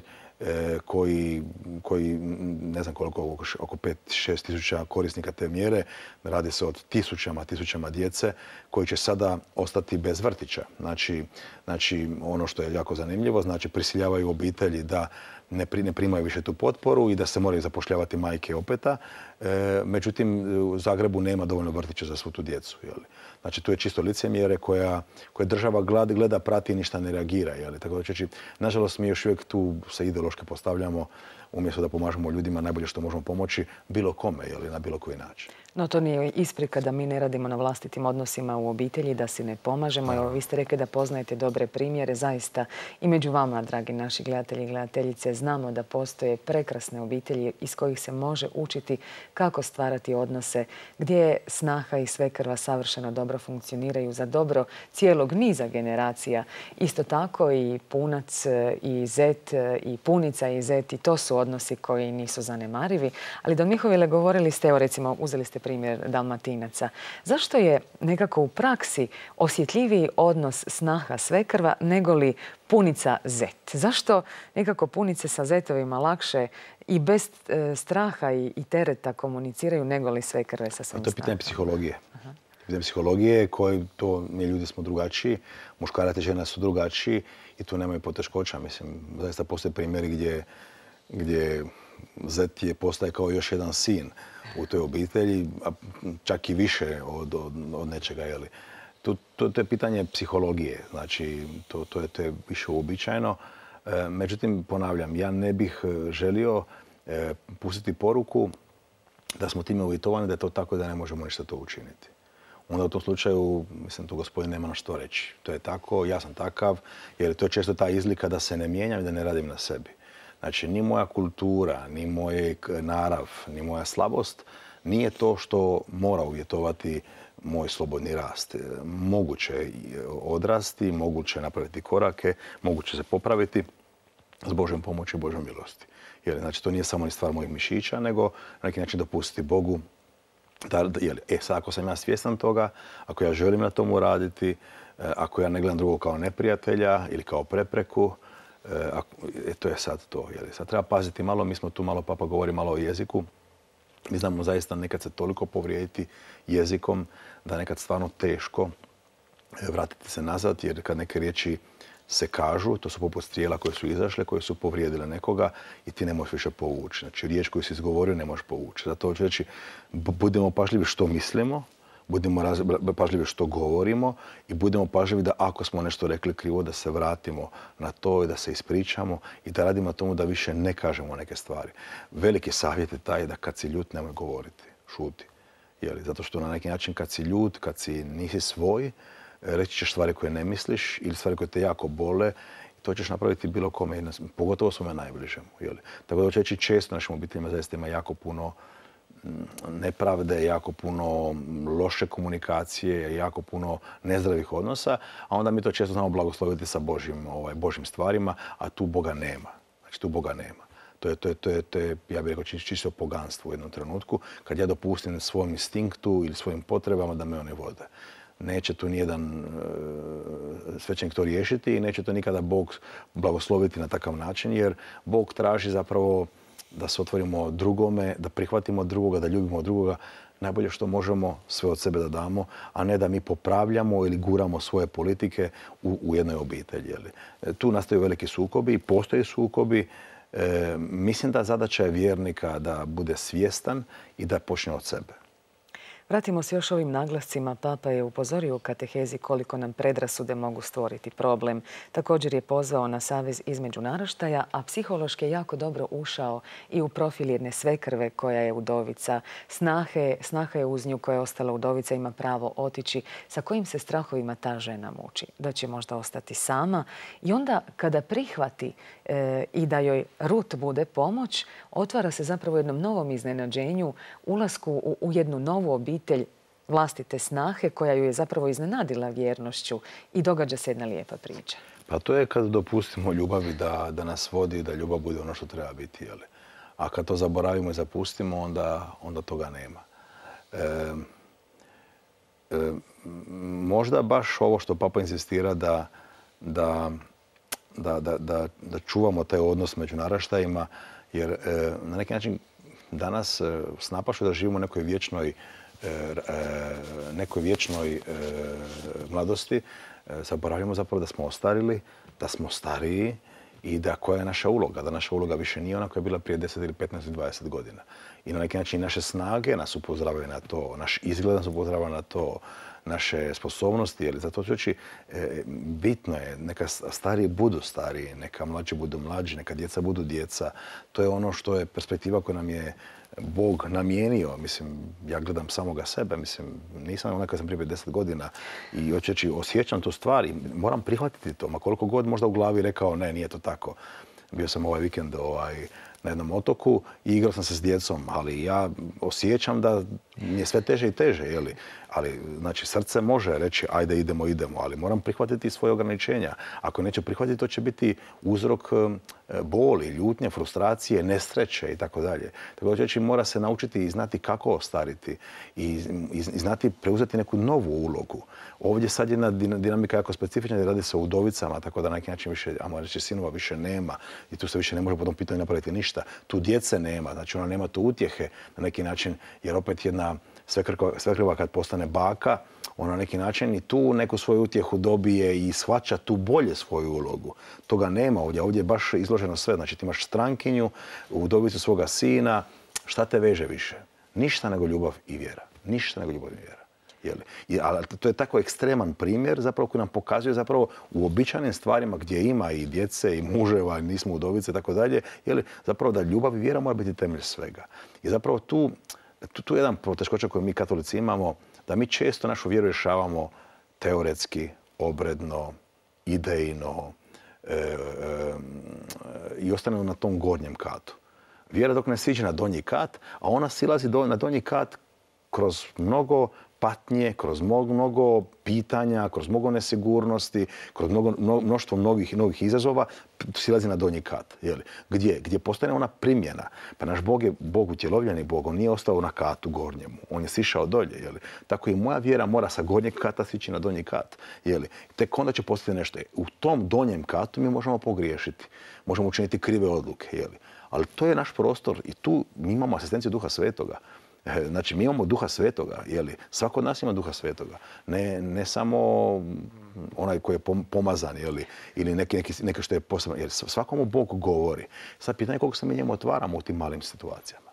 koji, koji ne znam koliko, oko pet šest tisuća korisnika te mjere. Radi se o tisućama, tisućama djece koji će sada ostati bez vrtića. Znači, znači ono što je jako zanimljivo, znači prisiljavaju obitelji da ne, pri, ne primaju više tu potporu i da se moraju zapošljavati majke opeta. E, međutim, u Zagrebu nema dovoljno vrtića za svu tu djecu. Jeli? Znači, tu je čisto licemjere koja, koja država gleda, gleda, prati i ništa ne reagira. Jeli? Tako da ćeći, nažalost, mi još uvijek tu se ideološki postavljamo umjesto da pomažemo ljudima najbolje što možemo pomoći bilo kome ili na bilo koji način. No to nije isprika da mi ne radimo na vlastitim odnosima u obitelji, da si ne pomažemo. Evo, vi ste rekli da poznajete dobre primjere. Zaista i među vama, dragi naši gledatelji i gledateljice, znamo da postoje prekrasne obitelji iz kojih se može učiti kako stvarati odnose, gdje snaha i svekrva savršeno dobro funkcioniraju za dobro cijelog niza generacija. Isto tako i punac i zet i punica i zet, i to su odnosi koji nisu zanemarivi. Ali Don Mihovile, govorili ste, evo recimo, uzeli ste primjer Dalmatinaca. Zašto je nekako u praksi osjetljiviji odnos snaha svekrva nego li punica zet? Zašto nekako punice sa zetovima lakše i bez e, straha i, i tereta komuniciraju nego li svekrve sa svojim snahom? To je pitanje psihologije. Aha. Pitanje psihologije koji to, mi ljudi smo drugačiji, muškarac i žena su drugačiji i tu nemaju poteškoća. Mislim, zaista postoje primjeri gdje, gdje zet je postaje kao još jedan sin u toj obitelji, a čak i više od, od, od nečega. Jeli. To, to, to je pitanje psihologije, znači to, to, je, to je više uobičajeno. E, međutim, ponavljam, ja ne bih želio e, pustiti poruku da smo time uvjetovani da je to tako da ne možemo ništa to učiniti. Onda u tom slučaju, mislim, tu gospodin nema na što reći. To je tako, ja sam takav, jer to je često ta izlika da se ne mijenjam i da ne radim na sebi. Znači, ni moja kultura, ni moj narav, ni moja slabost nije to što mora uvjetovati moj slobodni rast. Moguće je odrasti, moguće je napraviti korake, moguće se popraviti s Božjom pomoći i Božjom milosti. Jer, znači, to nije samo ni stvar mojih mišića, nego na neki način dopustiti Bogu da, da, jel, e, sad ako sam ja svjestan toga, ako ja želim na tomu raditi, ako ja ne gledam drugog kao neprijatelja ili kao prepreku, e, to je sad to. Jel? Sad treba paziti malo, mi smo tu malo, papa govori malo o jeziku. Mi znamo zaista nekad se toliko povrijediti jezikom da nekad stvarno teško vratiti se nazad, jer kad neke riječi se kažu, to su poput strijela koje su izašle, koje su povrijedile nekoga i ti ne možeš više povući. Znači, riječ koju si izgovorio ne možeš povući. Zato hoću reći, budemo pažljivi što mislimo, budemo pažljivi što govorimo i budemo pažljivi da ako smo nešto rekli krivo, da se vratimo na to i da se ispričamo i da radimo na tomu da više ne kažemo neke stvari. Veliki savjet je taj da kad si ljut nemoj govoriti, šuti. Jeli? Zato što na neki način kad si ljut, kad si nisi svoj, reći ćeš stvari koje ne misliš ili stvari koje te jako bole. To ćeš napraviti bilo kome, pogotovo svome najbližemu. Jeli? Tako da hoću reći, često našim obiteljima zaista ima jako puno nepravde, jako puno loše komunikacije, jako puno nezdravih odnosa, a onda mi to često znamo blagosloviti sa Božjim, ovaj, Božjim stvarima, a tu Boga nema. Znači tu Boga nema. To je, to je, to je, to je ja bih rekao, čisto poganstvo u jednom trenutku, kad ja dopustim svom instinktu ili svojim potrebama da me one vode. Neće tu nijedan e, svećenik to riješiti i neće to nikada Bog blagosloviti na takav način, jer Bog traži zapravo da se otvorimo drugome, da prihvatimo drugoga, da ljubimo drugoga, najbolje što možemo sve od sebe da damo, a ne da mi popravljamo ili guramo svoje politike u, u jednoj obitelji. Jeli. Tu nastaju veliki sukobi i postoje sukobi. E, mislim da zadaća je vjernika da bude svjestan i da počne od sebe. Vratimo se još ovim naglascima. Papa je upozorio u katehezi koliko nam predrasude mogu stvoriti problem. Također je pozvao na savez između naraštaja, a psihološki je jako dobro ušao i u profil jedne svekrve koja je udovica. Snahe, snaha je uz nju koja je ostala udovica, ima pravo otići. Sa kojim se strahovima ta žena muči? Da će možda ostati sama. I onda kada prihvati e, i da joj Rut bude pomoć, otvara se zapravo jednom novom iznenađenju, ulasku u, u jednu novu obitelj, obitelj vlastite snahe koja ju je zapravo iznenadila vjernošću i događa se jedna lijepa priča. Pa to je kad dopustimo ljubavi da, da nas vodi, da ljubav bude ono što treba biti. Jeli? A kad to zaboravimo i zapustimo, onda, onda toga nema. E, e, možda baš ovo što Papa insistira da, da, da, da, da, da čuvamo taj odnos među naraštajima, jer e, na neki način danas e, s napašu da živimo u nekoj vječnoj nekoj vječnoj mladosti, zaboravljamo zapravo da smo ostarili, da smo stariji i da koja je naša uloga. Da naša uloga više nije ona koja je bila prije deset ili petnaest ili dvadeset godina. I na neki način naše snage nas upozoravaju na to, naš izgled nas upozorava na to, naše sposobnosti. Jer zato ću reći, bitno je, neka stariji budu stariji, neka mlađi budu mlađi, neka djeca budu djeca. To je ono što je perspektiva koja nam je Bog namijenio. Mislim, ja gledam samoga sebe, mislim, nisam onaj kad sam prije pedeset godina i hoću reći, osjećam tu stvar i moram prihvatiti to. Ma koliko god možda u glavi rekao, ne, nije to tako. Bio sam ovaj vikend ovaj, na jednom otoku i igrao sam se s djecom, ali ja osjećam da mi je sve teže i teže, jeli? Ali, znači, srce može reći, ajde, idemo, idemo, ali moram prihvatiti svoje ograničenja. Ako neću prihvatiti, to će biti uzrok boli, ljutnje, frustracije, nesreće i tako dalje. Tako da znači, mora se naučiti i znati kako ostariti i, i, i znati preuzeti neku novu ulogu. Ovdje sad jedna dinamika jako specifična, jer radi se o udovicama, tako da na neki način više, ajmo reći, sinova više nema i tu se više ne može po tom pitanju napraviti ništa. Tu djece nema, znači ona nema tu utjehe na neki način, jer opet jedna svekrva kad postane baka, ona na neki način i tu neku svoju utjehu dobije i shvaća tu bolje svoju ulogu. Toga nema ovdje. Ovdje je baš izloženo sve. Znači ti imaš strankinju, udovicu svoga sina. Šta te veže više? Ništa nego ljubav i vjera. Ništa nego ljubav i vjera. Jeli? I, ali to je tako ekstreman primjer zapravo koji nam pokazuje zapravo u običajnim stvarima gdje ima i djece i muževa, nismo udovice i tako dalje, jeli? Zapravo da ljubav i vjera mora biti temelj svega. I zapravo tu Tu, tu je jedan poteškoća koju mi katolici imamo, da mi često našu vjeru rješavamo teoretski, obredno, idejno e, e, i ostanemo na tom gornjem katu. Vjera dok ne siđe na donji kat, a ona silazi do, na donji kat kroz mnogo patnje, kroz mnogo, mnogo pitanja, kroz mnogo nesigurnosti, kroz mnogo, mnoštvo novih, novih izazova, silazi na donji kat. Jeli? Gdje? Gdje postoje ona primjena. Pa naš Bog je Bog utjelovljeni Bog, on nije ostao na katu gornjemu, on je sišao dolje. Jeli? Tako i moja vjera mora sa gornjeg kata sići na donji kat. Jeli? Tek onda će postati nešto. U tom donjem katu mi možemo pogriješiti, možemo učiniti krive odluke. Jeli? Ali to je naš prostor i tu mi imamo asistenciju Duha Svetoga. Znači, mi imamo Duha Svetoga, jeli? Svako od nas ima Duha Svetoga. Ne, ne samo onaj koji je pomazan, jeli? Ili neki, neki, neki što je posebno. Jer svakomu Bog govori. Sad pitanje koliko se mi njemu otvaramo u tim malim situacijama.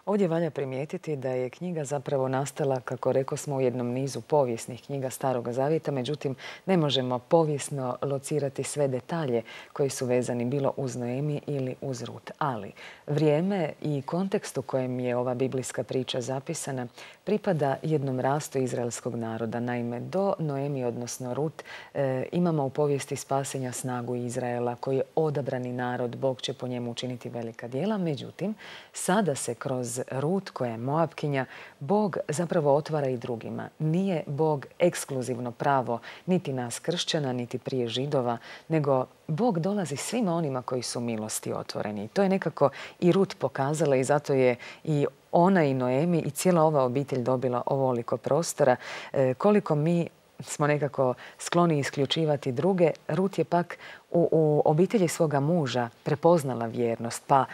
Ovdje valja primijetiti da je knjiga zapravo nastala, kako rekao smo, u jednom nizu povijesnih knjiga Staroga Zavjeta. Međutim, ne možemo povijesno locirati sve detalje koji su vezani bilo uz Noemi ili uz Rut. Ali vrijeme i kontekst u kojem je ova biblijska priča zapisana pripada jednom rastu izraelskog naroda. Naime, do Noemi, odnosno Rut, e, imamo u povijesti spasenja snagu Izraela koji je odabrani narod. Bog će po njemu učiniti velika djela. Međutim, sada se kroz Rut, koja je Moabkinja, Bog zapravo otvara i drugima. Nije Bog ekskluzivno pravo niti nas kršćana, niti prije Židova, nego Bog dolazi svima onima koji su milosti otvoreni. To je nekako i Rut pokazala i zato je i ona i Noemi i cijela ova obitelj dobila ovoliko prostora. E, koliko mi smo nekako skloni isključivati druge, Rut je pak u, u obitelji svoga muža prepoznala vjernost, pa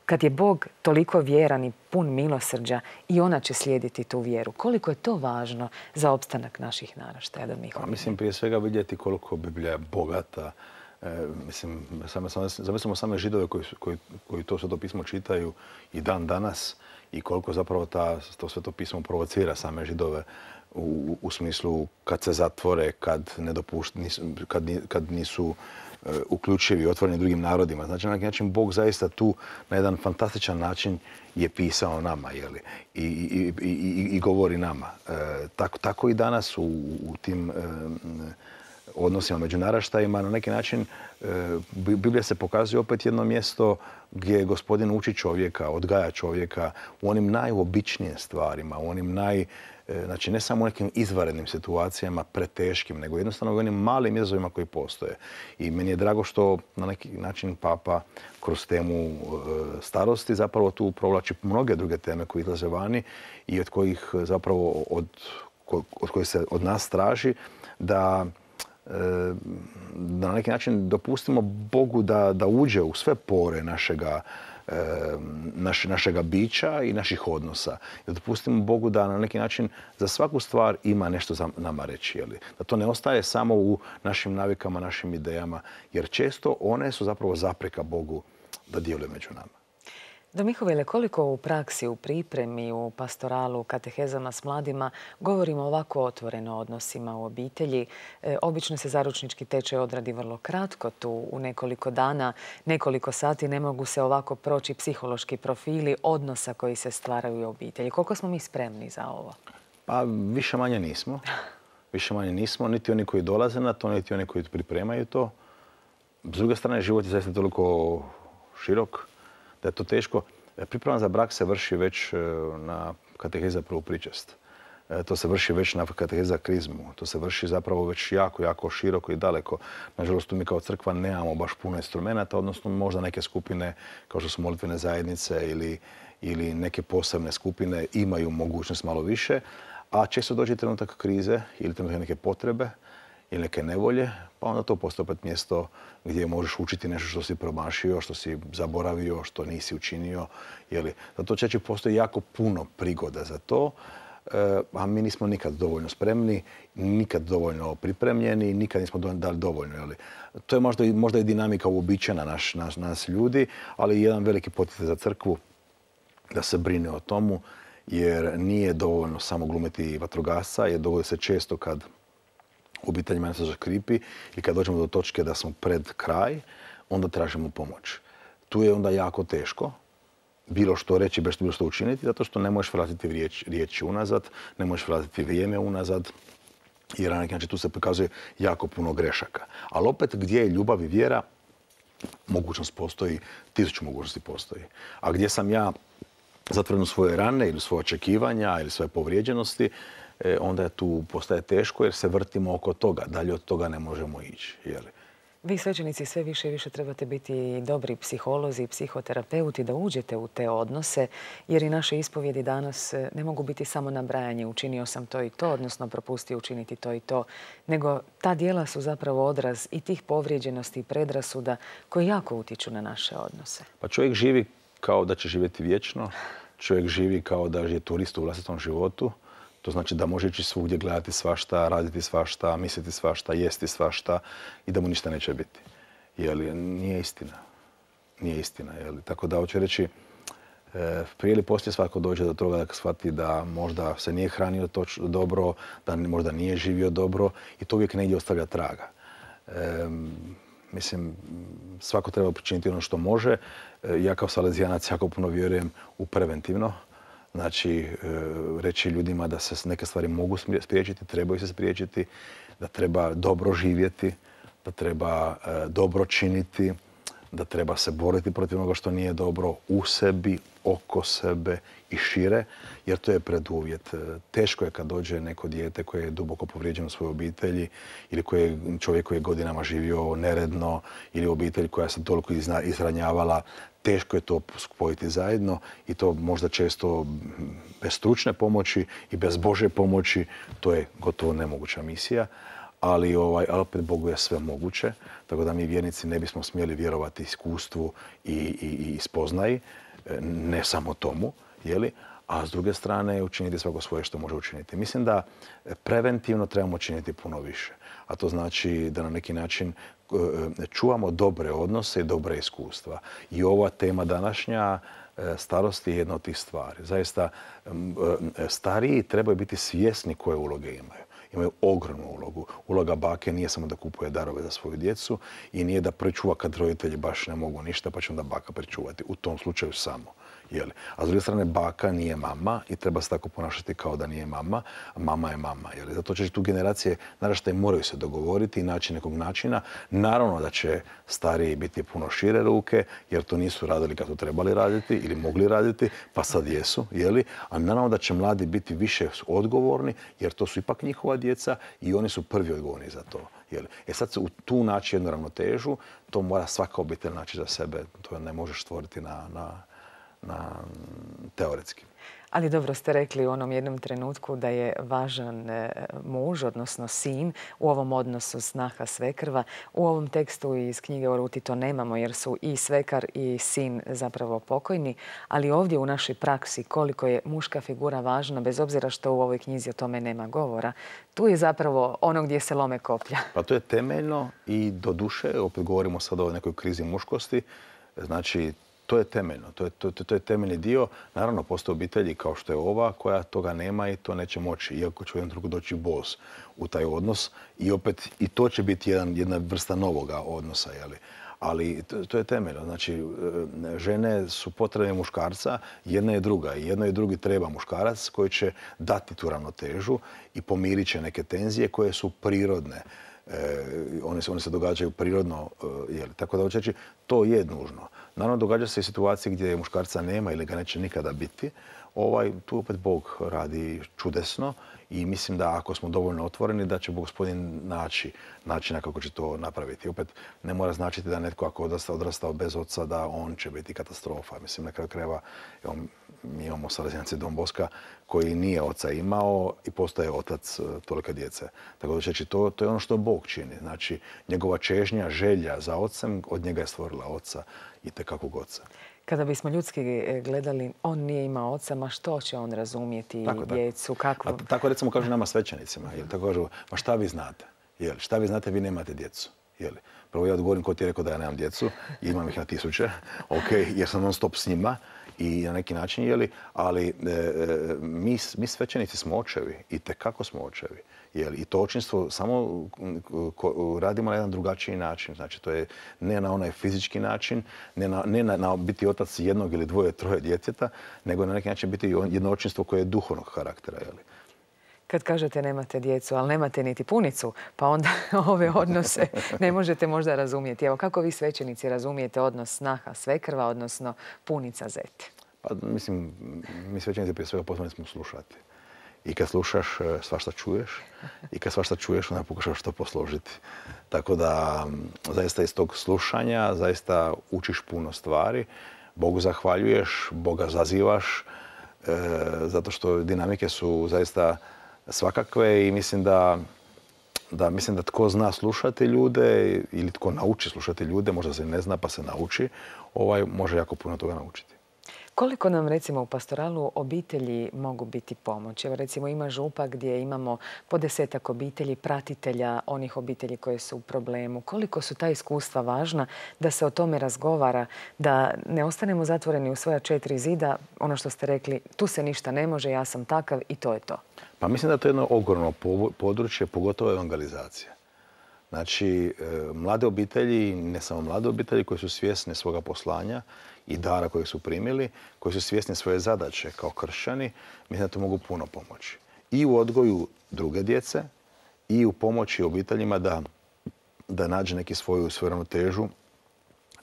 kad je Bog toliko vjeran i pun milosrđa, i ona će slijediti tu vjeru. Koliko je to važno za opstanak naših naraštaja? Pa, mislim, prije svega vidjeti koliko Biblija je bogata. E, mislim, same, same, zamislimo same Židove koji, koji, koji to Sveto pismo čitaju i dan danas i koliko zapravo ta, to Sveto pismo provocira same Židove u, u smislu kad se zatvore, kad, ne dopušt, nisu, kad, kad nisu uključivi i otvoreni drugim narodima. Znači, na neki način Bog zaista tu na jedan fantastičan način je pisao nama, jeli? I, i, i, i, i govori nama. E, tako, tako i danas u, u tim e, odnosima među naraštajima na neki način e, Biblija se pokazuje opet jedno mjesto gdje Gospodin uči čovjeka, odgaja čovjeka u onim najobičnijim stvarima, u onim naj Znači, ne samo u nekim izvanrednim situacijama, preteškim, nego jednostavno u onim malim izazovima koji postoje. I meni je drago što na neki način Papa kroz temu starosti zapravo tu provlači mnoge druge teme koje izlaze vani i od kojih zapravo od, od kojih se od nas traži da da na neki način dopustimo Bogu da, da uđe u sve pore našega Naš, našega bića i naših odnosa. Da dopustimo Bogu da na neki način za svaku stvar ima nešto za nama reći. Jeli? Da to ne ostaje samo u našim navikama, našim idejama, jer često one su zapravo zapreka Bogu da djeluje među nama. Do Mihovile, koliko u praksi, u pripremi, u pastoralu, katehezama s mladima govorimo ovako otvoreno o odnosima u obitelji? E, obično se zaručnički tečaj odradi vrlo kratko, tu u nekoliko dana, nekoliko sati, ne mogu se ovako proći psihološki profili odnosa koji se stvaraju u obitelji. Koliko smo mi spremni za ovo? Pa više manje nismo. Više manje nismo, niti oni koji dolaze na to, niti oni koji pripremaju to. S druge strane, život je zaista toliko širok da je to teško. Priprema za brak se vrši već na kateheza prvu pričest. To se vrši već na kateheza krizmu. To se vrši zapravo već jako, jako široko i daleko. Nažalost, tu mi kao crkva nemamo baš puno instrumenta, odnosno možda neke skupine kao što su molitvene zajednice ili, ili neke posebne skupine imaju mogućnost malo više, a često dođe trenutak krize ili trenutak neke potrebe ili neke nevolje, pa onda to postoji opet mjesto gdje možeš učiti nešto što si promašio, što si zaboravio, što nisi učinio. Jeli? Zato često postoji jako puno prigoda za to, a mi nismo nikad dovoljno spremni, nikad dovoljno pripremljeni, nikad nismo dali dovoljno. Jeli? To je možda, možda i dinamika uobičajena naš, naš, nas ljudi, ali i jedan veliki poticaj za crkvu da se brine o tomu, jer nije dovoljno samo glumiti vatrogasca, jer dogodi se često kad u obiteljima nešto zaškripi i kad dođemo do točke da smo pred kraj, onda tražimo pomoć. Tu je onda jako teško bilo što reći, bilo što učiniti, zato što ne možeš vratiti riječ, riječi unazad, ne možeš vratiti vrijeme unazad, jer na neki način tu se pokazuje jako puno grešaka. Ali opet gdje je ljubav i vjera, mogućnost postoji, tisuću mogućnosti postoji. A gdje sam ja zatvoren u svoje rane ili svoje očekivanja ili svoje povrijeđenosti, e, onda tu postaje teško jer se vrtimo oko toga. Dalje od toga ne možemo ići. Je li? Vi svećenici sve više i više trebate biti dobri psiholozi i psihoterapeuti da uđete u te odnose, jer i naše ispovjedi danas ne mogu biti samo nabrajanje učinio sam to i to, odnosno propustio učiniti to i to, nego ta djela su zapravo odraz i tih povrijeđenosti i predrasuda koji jako utječu na naše odnose. Pa čovjek živi kao da će živjeti vječno, čovjek živi kao da je turist u vlastitom životu. To znači da može ići svugdje, gledati svašta, raditi svašta, misliti svašta, jesti svašta i da mu ništa neće biti. Jeli, nije istina. Nije istina. Jeli. Tako da hoću reći, e, prije ili poslije svako dođe do toga da shvati da možda se nije hranio toč, dobro, da možda nije živio dobro i to uvijek negdje ostavlja traga. E, mislim, svako treba počiniti ono što može. E, ja kao salezijanac jako puno vjerujem u preventivno. Znači, reći ljudima da se neke stvari mogu spriječiti, trebaju se spriječiti, da treba dobro živjeti, da treba dobro činiti, da treba se boriti protiv onoga što nije dobro u sebi, oko sebe i šire, jer to je preduvjet. Teško je kad dođe neko dijete koje je duboko povrijeđeno u svojoj obitelji ili koje, čovjek koji je godinama živio neredno ili obitelj koja se toliko izranjavala. Teško je to spojiti zajedno i to možda često bez stručne pomoći i bez Božje pomoći. To je gotovo nemoguća misija. Ali, ovaj, ali opet Bogu je sve moguće, tako da mi vjernici ne bismo smjeli vjerovati iskustvu i, i, i spoznaji, ne samo tomu, jeli? A s druge strane učiniti svako svoje što može učiniti. Mislim da preventivno trebamo učiniti puno više, a to znači da na neki način čuvamo dobre odnose i dobre iskustva. I ova tema današnja, starost je jedna od tih stvari. Zaista, stariji trebaju biti svjesni koje uloge imaju. Imaju ogromnu ulogu. Uloga bake nije samo da kupuje darove za svoju djecu i nije da pričuva kad roditelji baš ne mogu ništa, pa će onda baka pričuvati. U tom slučaju samo. Jeli? A s druge strane, baka nije mama i treba se tako ponašati kao da nije mama, a mama je mama. Jeli? Zato će tu generacije, naraštaj, moraju se dogovoriti i naći nekog načina. Naravno da će stariji biti puno šire ruke, jer to nisu radili kad su trebali raditi ili mogli raditi, pa sad jesu. Jeli? A naravno da će mladi biti više odgovorni, jer to su ipak njihova djeca i oni su prvi odgovorni za to. Jeli? E sad se u tu naći jednu ravnotežu, to mora svaka obitelj naći za sebe. To ne možeš stvoriti na... na Na, teoretski. Ali dobro ste rekli u onom jednom trenutku da je važan muž, odnosno sin, u ovom odnosu snaha svekrva. U ovom tekstu iz knjige o Ruti to nemamo jer su i svekar i sin zapravo pokojni, ali ovdje u našoj praksi koliko je muška figura važna, bez obzira što u ovoj knjizi o tome nema govora, tu je zapravo ono gdje se lome koplja. Pa to je temeljno i do duše, opet govorimo sad o nekoj krizi muškosti, znači to je temeljno, to je, to, to je temeljni dio. Naravno, postoje obitelji kao što je ova koja toga nema i to neće moći, iako će u jednom trenutku doći bos u taj odnos i opet i to će biti jedan, jedna vrsta novoga odnosa. Jeli? Ali to, to je temeljno. Znači, žene su potrebne muškarca, jedna je druga i jedno i drugi treba muškarac koji će dati tu ravnotežu i pomirit će neke tenzije koje su prirodne. E, one, se, one se događaju prirodno, jeli? Tako da hoće reći, to je nužno. Naravno, događa se i situacije gdje muškarca nema ili ga neće nikada biti. Ovaj, tu opet Bog radi čudesno i mislim da ako smo dovoljno otvoreni da će Gospodin naći načina kako će to napraviti. Opet ne mora značiti da netko ako odrastao, odrastao bez oca da on će biti katastrofa. Mislim, na kraju krajeva mi imamo Salezijance Don Boska koji nije oca imao i postaje otac tolike djece. Tako da će to, to je ono što Bog čini. Znači, njegova čežnja, želja za ocem, od njega je stvorila oca i tekakvog oca. Kada bismo ljudski gledali, on nije imao oca, ma što će on razumijeti tako, djecu? Kako... A tako recimo kažu nama svećenicima. Jel? Tako kažu, ma šta vi znate? Jel? Šta vi znate, vi nemate djecu? Jel? Prvo ja odgovorim ko ti je rekao da ja nemam djecu. Imam ih na tisuće. Ok, jer sam non stop s njima i na neki način, jeli, ali e, mi, mi svećenici smo očevi i tekako smo očevi. Jeli, i to očinstvo samo ko, radimo na jedan drugačiji način. Znači, to je ne na onaj fizički način, ne na, ne na, na biti otac jednog ili dvoje, troje djeteta, nego na neki način biti jedno očinstvo koje je duhovnog karaktera. Jeli. Kad kažete nemate djecu, ali nemate niti punicu, pa onda ove odnose ne možete možda razumjeti. Evo, kako vi svećenici razumijete odnos snaha svekrva, odnosno punica zete? Pa, mislim, mi svećenici prije svega pozvani smo slušati. i kad slušaš svašta čuješ i kad svašta čuješ onda pokušaš to posložiti. Tako da zaista iz tog slušanja zaista učiš puno stvari. Bogu zahvaljuješ, Boga zazivaš, e, zato što dinamike su zaista svakakve i mislim da, da, mislim da tko zna slušati ljude ili tko nauči slušati ljude, možda se ne zna pa se nauči, ovaj, može jako puno toga naučiti. Koliko nam recimo u pastoralu obitelji mogu biti pomoć? Evo recimo ima župa gdje imamo po desetak obitelji, pratitelja onih obitelji koje su u problemu. Koliko su ta iskustva važna da se o tome razgovara, da ne ostanemo zatvoreni u svoja četiri zida, ono što ste rekli, tu se ništa ne može, ja sam takav i to je to. Pa mislim da je to jedno ogromno područje, pogotovo evangelizacija. Znači, mlade obitelji, ne samo mlade obitelji koje su svjesne svoga poslanja i dara kojeg su primili, koji su svjesni svoje zadaće kao kršćani, mislim da to mogu puno pomoći. I u odgoju druge djece i u pomoći obiteljima da, da nađe neki svoju, svoju ravnotežu.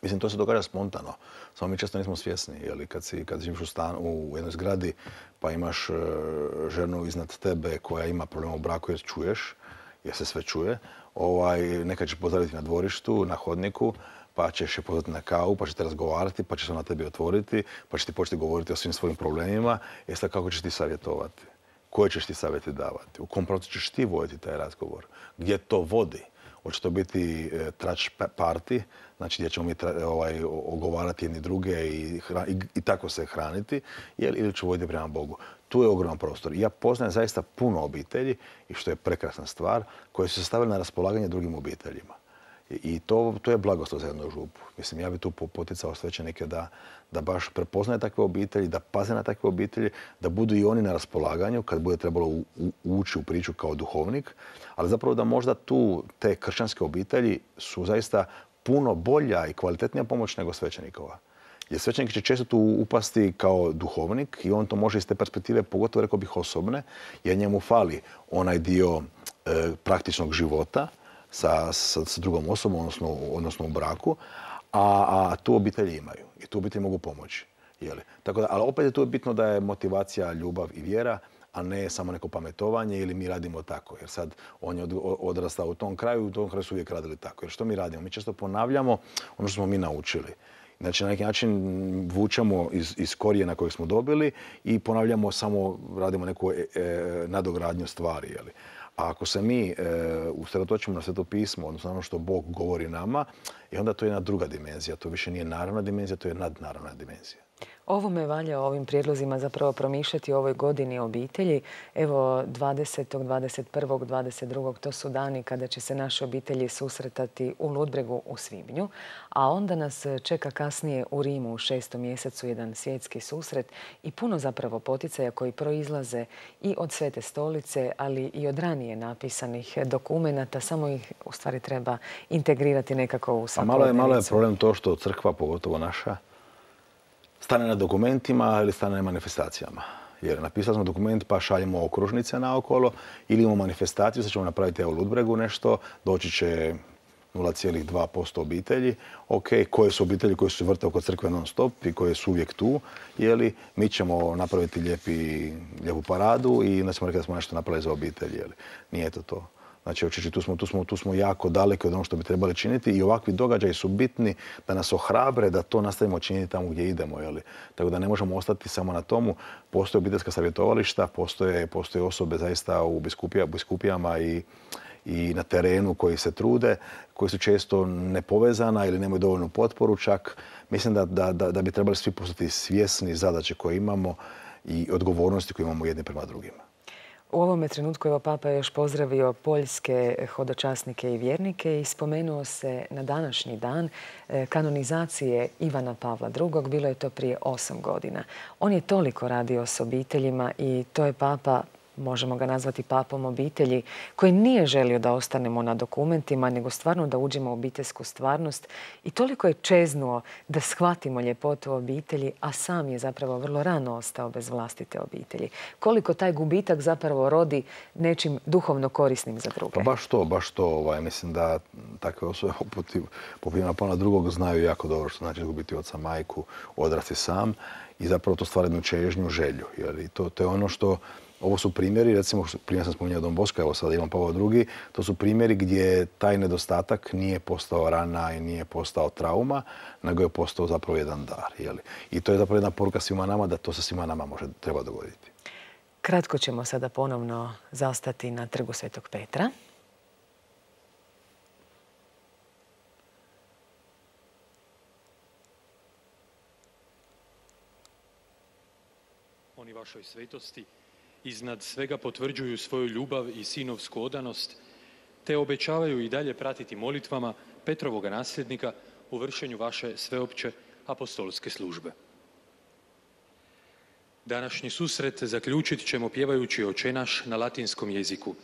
Mislim, to se događa spontano. Samo mi često nismo svjesni. Jeli, kad, si, kad živiš u, stan, u jednoj zgradi pa imaš uh, ženu iznad tebe koja ima problema u braku jer čuješ, jer se sve čuje, ovaj, nekad će pozdraviti na dvorištu, na hodniku, pa ćeš je pozvati na kavu, pa ćete razgovarati, pa će se na tebi otvoriti, pa će ti početi govoriti o svim svojim problemima. E sad kako ćeš ti savjetovati? Koje ćeš ti savjeti davati? U kom pravcu ćeš ti voditi taj razgovor? Gdje to vodi? Hoće to biti e, trač party, znači gdje ćemo mi tra, ovaj, ogovarati jedni druge i, i, i tako se hraniti, jel, ili ću voditi prema Bogu. Tu je ogroman prostor. I ja poznajem zaista puno obitelji, i što je prekrasna stvar, koje su se stavili na raspolaganje drugim obiteljima. I to, to je blagoslov za jednu župu. Mislim, ja bih tu poticao svećenike da, da baš prepoznaju takve obitelji, da paze na takve obitelji, da budu i oni na raspolaganju kad bude trebalo u, u, ući u priču kao duhovnik, ali zapravo da možda tu te kršćanske obitelji su zaista puno bolja i kvalitetnija pomoć nego svećenikova. Jer svećenik će često tu upasti kao duhovnik i on to može iz te perspektive, pogotovo rekao bih osobne, jer njemu fali onaj dio e, praktičnog života, Sa, sa, sa drugom osobom, odnosno, odnosno u braku, a, a tu obitelji imaju i tu obitelji mogu pomoći. Jeli? Tako da, ali opet je tu bitno da je motivacija ljubav i vjera, a ne samo neko pametovanje ili mi radimo tako. Jer sad on je od, odrastao u tom kraju i u tom kraju su uvijek radili tako. Jer što mi radimo? Mi često ponavljamo ono što smo mi naučili. Znači na neki način vučemo iz, iz korijena kojeg smo dobili i ponavljamo samo, radimo neku e, e, nadogradnju stvari. Jeli? A ako se mi e, usredotočimo na Sveto pismo, odnosno ono što Bog govori nama, i onda to je jedna druga dimenzija. To više nije naravna dimenzija, to je nadnaravna dimenzija. Ovo me valja ovim prijedlozima zapravo promišljati u ovoj godini obitelji. Evo dvadesetog, dvadeset prvog, dvadeset drugog to su dani kada će se naše obitelji susretati u Ludbregu u svibnju, a onda nas čeka kasnije u Rimu u šestom mjesecu jedan svjetski susret i puno zapravo poticaja koji proizlaze i od Svete stolice, ali i od ranije napisanih dokumenata. Samo ih u stvari treba integrirati nekako u svakodnevicu. Malo je, malo je problem to što crkva, pogotovo naša, stane na dokumentima ili stane na manifestacijama. Jer napisali smo dokument pa šaljemo okružnice naokolo ili imamo manifestaciju, sad ćemo napraviti u Ludbregu nešto, doći će nula zarez dva posto obitelji. Ok, koje su obitelji koje su vrte oko crkve non stop i koje su uvijek tu, jeli, mi ćemo napraviti lijepi, lijepu paradu i onda ćemo rekli da smo nešto napravili za obitelj. Jeli. Nije to to. Znači, očići, tu smo, tu, smo, tu smo jako daleki od onog što bi trebali činiti i ovakvi događaji su bitni da nas ohrabre da to nastavimo činiti tamo gdje idemo. Jeli. Tako da ne možemo ostati samo na tomu. Postoje obiteljska savjetovališta, postoje, postoje osobe zaista u biskupija, biskupijama i, i na terenu koji se trude, koji su često nepovezana ili nemaju dovoljnu potporu čak. Mislim da, da, da, da bi trebali svi postati svjesni zadaće koje imamo i odgovornosti koje imamo jedni prema drugima. U ovome trenutku evo Papa je još pozdravio poljske hodočasnike i vjernike i spomenuo se na današnji dan kanonizacije Ivana Pavla drugog. Bilo je to prije osam godina. On je toliko radio s obiteljima i to je Papa, možemo ga nazvati papom obitelji, koji nije želio da ostanemo na dokumentima, nego stvarno da uđemo u obiteljsku stvarnost. I toliko je čeznuo da shvatimo ljepotu obitelji, a sam je zapravo vrlo rano ostao bez vlastite obitelji. Koliko taj gubitak zapravo rodi nečim duhovno korisnim za druge. Pa baš to, baš to. Ovaj, mislim da takve osobe poput Ivana Pavla drugog znaju jako dobro što znači izgubiti oca, majku, odrasti sam i zapravo to stvara jednu čežnju, želju. Jer to, to je ono što Ovo su primjeri, recimo, primjer sam spominjao Don Bosco, evo sad Ivan Pavao drugi, to su primjeri gdje taj nedostatak nije postao rana i nije postao trauma, nego je postao zapravo jedan dar. Jeli? I to je zapravo jedna poruka svima nama da to se svima nama može, treba dogoditi. Kratko ćemo sada ponovno zastati na Trgu Svetog Petra. Oni vašoj svetosti iznad svega potvrđuju svoju ljubav i sinovsku odanost, te obećavaju i dalje pratiti molitvama Petrovoga nasljednika u vršenju vaše sveopće apostolske službe. Današnji susret zaključit ćemo pjevajući Oče naš na latinskom jeziku.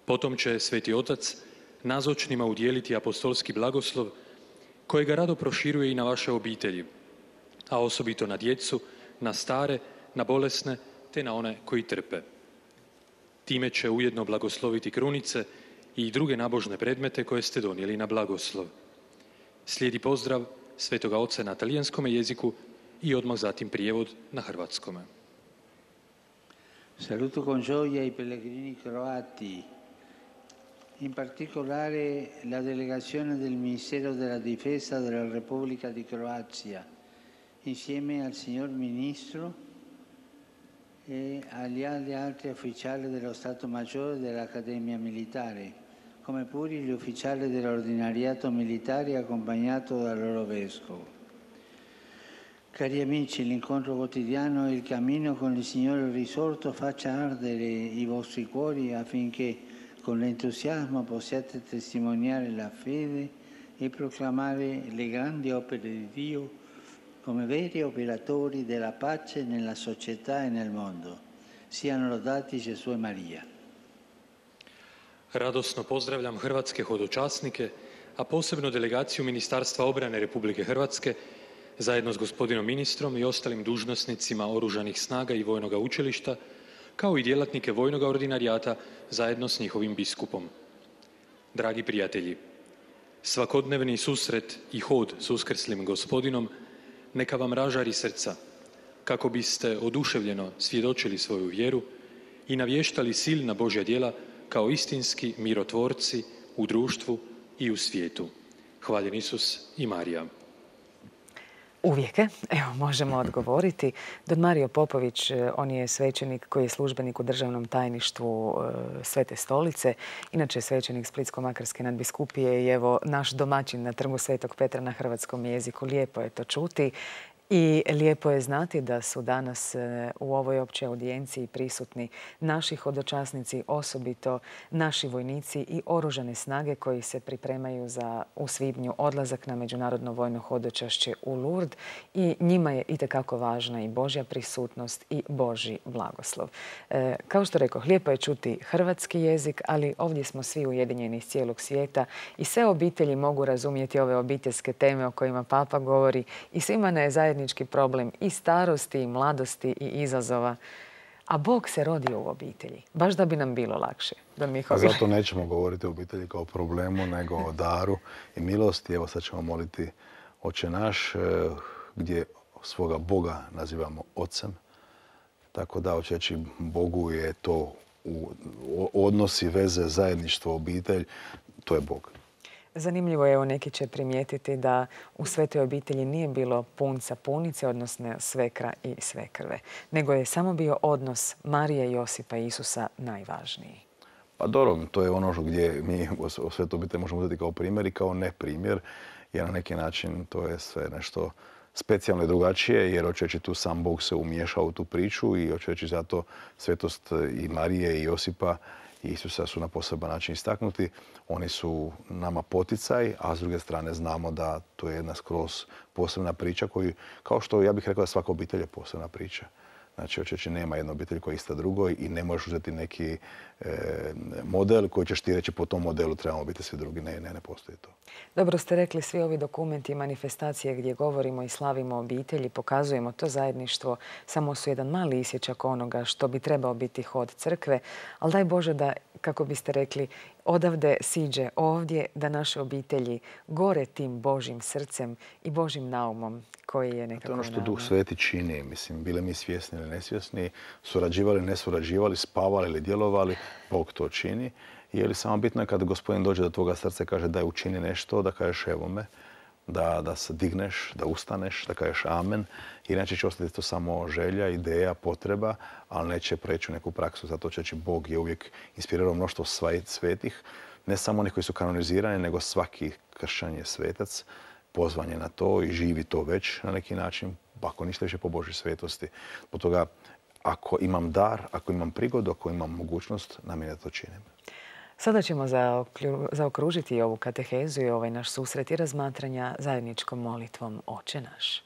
Potom će Sveti Otac nazočnima udjeliti apostolski blagoslov kojega rado proširuje i na vaše obitelji, a osobito na djecu, na stare, na bolesne te na one koji trpe. Time će ujedno blagosloviti krunice i druge nabožne predmete koje ste donijeli na blagoslov. Slijedi pozdrav Svetoga Oca na talijanskom jeziku i odmah zatim prijevod na hrvatskome. Saluto con gioia i pellegrini croati, in particolare la delegazione del Ministero della Difesa della Repubblica di Croazia, insieme al signor Ministro e agli altri ufficiali dello Stato Maggiore dell'Accademia Militare, come pure gli ufficiali dell'ordinariato militare accompagnato dal loro vescovo. Cari amici, l'incontro quotidiano e il cammino con il Signore risorto faccia ardere i vostri cuori affinché con l'entusiasmo possiate testimoniare la fede e proclamare le grandi opere di Dio come veri operatori della pace nella società e nel mondo. Siano lodati Gesù e Marija. Radosno pozdravljam hrvatske hodočasnike, a posebno delegaciju Ministarstva obrane Republike Hrvatske, zajedno s gospodinom ministrom i ostalim dužnosnicima Oružanih snaga i Vojnoga učilišta, kao i djelatnike Vojnoga ordinarijata zajedno s njihovim biskupom. Dragi prijatelji, svakodnevni susret i hod s uskrslim gospodinom neka vam ražari srca, kako biste oduševljeno svjedočili svoju vjeru i navještali silna Božja djela kao istinski mirotvorci u društvu i u svijetu. Hvaljen Isus i Marija. Uvijek, evo, možemo odgovoriti. Don Mario Popović, on je svećenik koji je službenik u državnom tajništvu Svete stolice, inače svećenik Splitsko-makarske nadbiskupije i evo naš domaćin na Trgu Svetog Petra na hrvatskom jeziku. Lijepo je to čuti. I lijepo je znati da su danas u ovoj općoj audijenciji prisutni naši hodočasnici, osobito naši vojnici i oružane snage koji se pripremaju za u svibnju odlazak na međunarodno vojno hodočašće u Lourdes i njima je itekako važna i Božja prisutnost i Božji blagoslov. E, kao što rekao, lijepo je čuti hrvatski jezik, ali ovdje smo svi ujedinjeni iz cijelog svijeta i sve obitelji mogu razumjeti ove obiteljske teme o kojima Papa govori i svima ne je zajednički problem i starosti, i mladosti, i izazova. A Bog se rodio u obitelji, baš da bi nam bilo lakše. Da mi A zato nećemo govoriti o obitelji kao o problemu, nego o daru i milosti. Evo sad ćemo moliti Oče naš, gdje svoga Boga nazivamo Ocem. Tako da, očeći Bogu je to u odnosi, veze, zajedništvo, obitelj, to je Bog. Zanimljivo je, evo neki će primijetiti da u svetoj obitelji nije bilo punca punice, odnosno svekra i svekrve, nego je samo bio odnos Marije, Josipa i Isusa najvažniji. Pa dobro, to je ono gdje mi o svetoj obitelji možemo uzeti kao primjer i kao ne primjer, jer na neki način to je sve nešto specijalno i drugačije, jer očeći tu sam Bog se umiješao u tu priču i očeći zato svetost i Marije i Josipa i Isusa su na poseban način istaknuti. Oni su nama poticaj, a s druge strane znamo da to je jedna skroz posebna priča koju, kao što ja bih rekao da svaka obitelj je posebna priča. Znači, očeći nema jedna obitelj koja je ista drugoj i ne možeš uzeti neki e, model koji ćeš ti reći po tom modelu trebamo biti svi drugi. Ne, ne, ne postoji to. Dobro ste rekli, svi ovi dokumenti i manifestacije gdje govorimo i slavimo obitelji, pokazujemo to zajedništvo, samo su jedan mali isječak onoga što bi trebao biti hod crkve, ali daj Bože da, kako biste rekli, odavde siđe ovdje, da naše obitelji gore tim Božjim srcem i Božjim naumom koji je nekako... To je ono što Duh Sveti čini. Mislim, bili mi svjesni ili nesvjesni, surađivali, ne surađivali, spavali ili djelovali, Bog to čini. Je li samo bitno je kad Gospodin dođe do tvoga srca i kaže daj učini nešto, da kažeš evo me, da, da se digneš, da ustaneš, da kažeš amen. Inače će ostati to samo želja, ideja, potreba, ali neće preći u neku praksu. Zato će Bog je uvijek inspirirao mnoštvo svetih, ne samo onih koji su kanonizirani, nego svaki kršćan je svetac, pozvan je na to i živi to već na neki način, ako ništa više po Božoj svetosti. Zbog toga, ako imam dar, ako imam prigodu, ako imam mogućnost, namjerno da to činim. Sada ćemo zaokružiti ovu katehezu i ovaj naš susret i razmatranja zajedničkom molitvom Oče naš.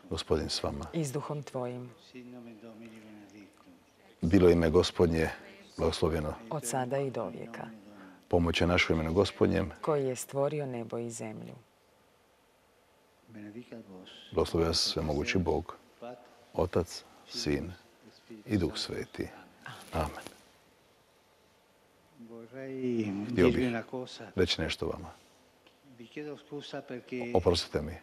Gospodin s vama. I s duhom tvojim. Bilo ime Gospodnje blagoslovljeno. Od sada i do vijeka. Pomoć je našo imenu Gospodnjem. Koji je stvorio nebo i zemlju. Blagoslovi vas svemogući Bog, Otac, Sin i Duh Sveti. Amen. Htio bih reći nešto vama. Oprostite mi.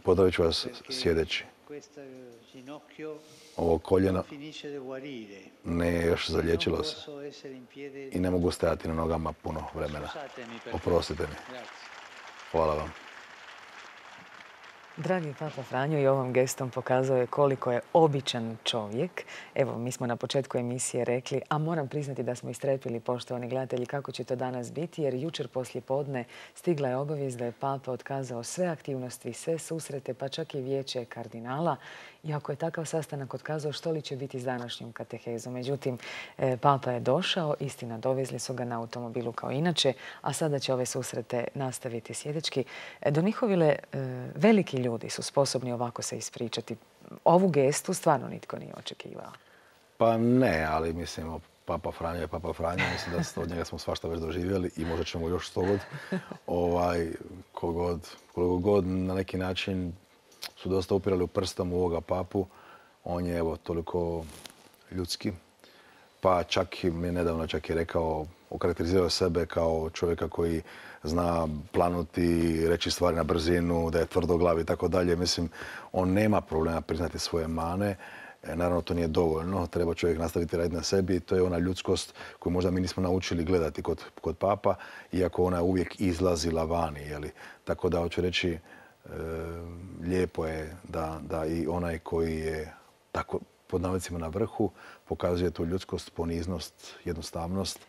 Pozdravit ću vas sjedeći. Ovo koljeno ne je još zaliječilo se i ne mogu stajati na nogama puno vremena. Oprostite mi. Hvala vam. Dragi Papa Franjo i ovom gestom pokazao je koliko je običan čovjek. Evo, mi smo na početku emisije rekli, a moram priznati da smo istrepili, poštovani gledatelji, kako će to danas biti, jer jučer poslije podne stigla je obavijest da je Papa otkazao sve aktivnosti, sve susrete, pa čak i vijeće kardinala. I ako je takav sastanak otkazao, što li će biti s današnjom katehezom? Međutim, Papa je došao, istina, dovezli su ga na automobilu kao inače, a sada će ove susrete nastaviti sjedečki. Donihovile, veliki ljudi su sposobni ovako se ispričati. Ovu gestu stvarno nitko nije očekivao. Pa ne, ali mislim, Papa Franjo je Papa Franjo. Mislim da od njega smo svašta već doživjeli i možda ćemo još sto god. Ovaj, koliko god na neki način su dosta upirali u prstom u ovoga papu. On je evo toliko ljudski. Pa čak i mi nedavno čak je rekao, okarakterizirao sebe kao čovjeka koji zna planuti, reći stvari na brzinu, da je tvrdoglav i tako dalje. Mislim, on nema problema priznati svoje mane. Naravno, to nije dovoljno. Treba čovjek nastaviti raditi na sebi i to je ona ljudskost koju možda mi nismo naučili gledati kod, kod papa, iako ona uvijek izlazila vani. Jeli? Tako da, hoću reći, e, lijepo je da, da i onaj koji je tako pod navodnicima na vrhu pokazuje tu ljudskost, poniznost, jednostavnost.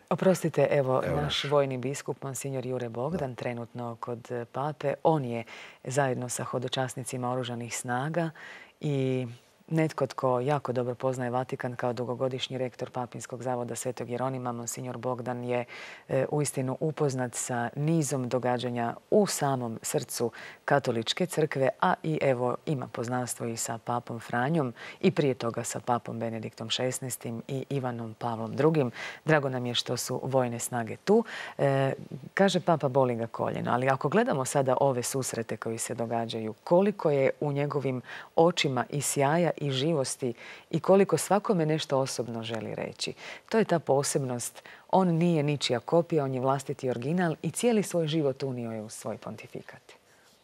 Oprostite, evo, evo naš vojni biskup, monsignor Jure Bogdan, da. trenutno kod pape. On je zajedno sa hodočasnicima oružanih snaga i netko tko jako dobro poznaje Vatikan kao dugogodišnji rektor Papinskog zavoda Svetog Jeronima, monsignor Bogdan je e, uistinu upoznat sa nizom događanja u samom srcu katoličke crkve, a i evo ima poznanstvo i sa papom Franjom i prije toga sa papom Benediktom šesnaestim i Ivanom Pavlom drugim. Drago nam je što su vojne snage tu. E, kaže papa, boli ga koljeno, ali ako gledamo sada ove susrete koji se događaju, koliko je u njegovim očima i sjaja i živosti i koliko svakome nešto osobno želi reći. To je ta posebnost. On nije ničija kopija, on je vlastiti original i cijeli svoj život unio je u svoj pontifikat.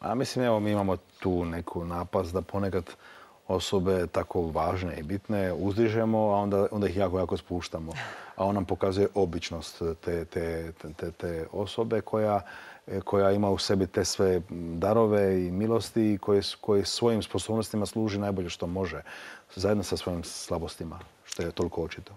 A mislim, evo, mi imamo tu neku napast da ponekad osobe tako važne i bitne uzdižemo, a onda, onda ih jako, jako spuštamo. A on nam pokazuje običnost te, te, te, te osobe koja, koja ima u sebi te sve darove i milosti i koje, koje svojim sposobnostima služi najbolje što može, zajedno sa svojim slabostima, što je toliko očito.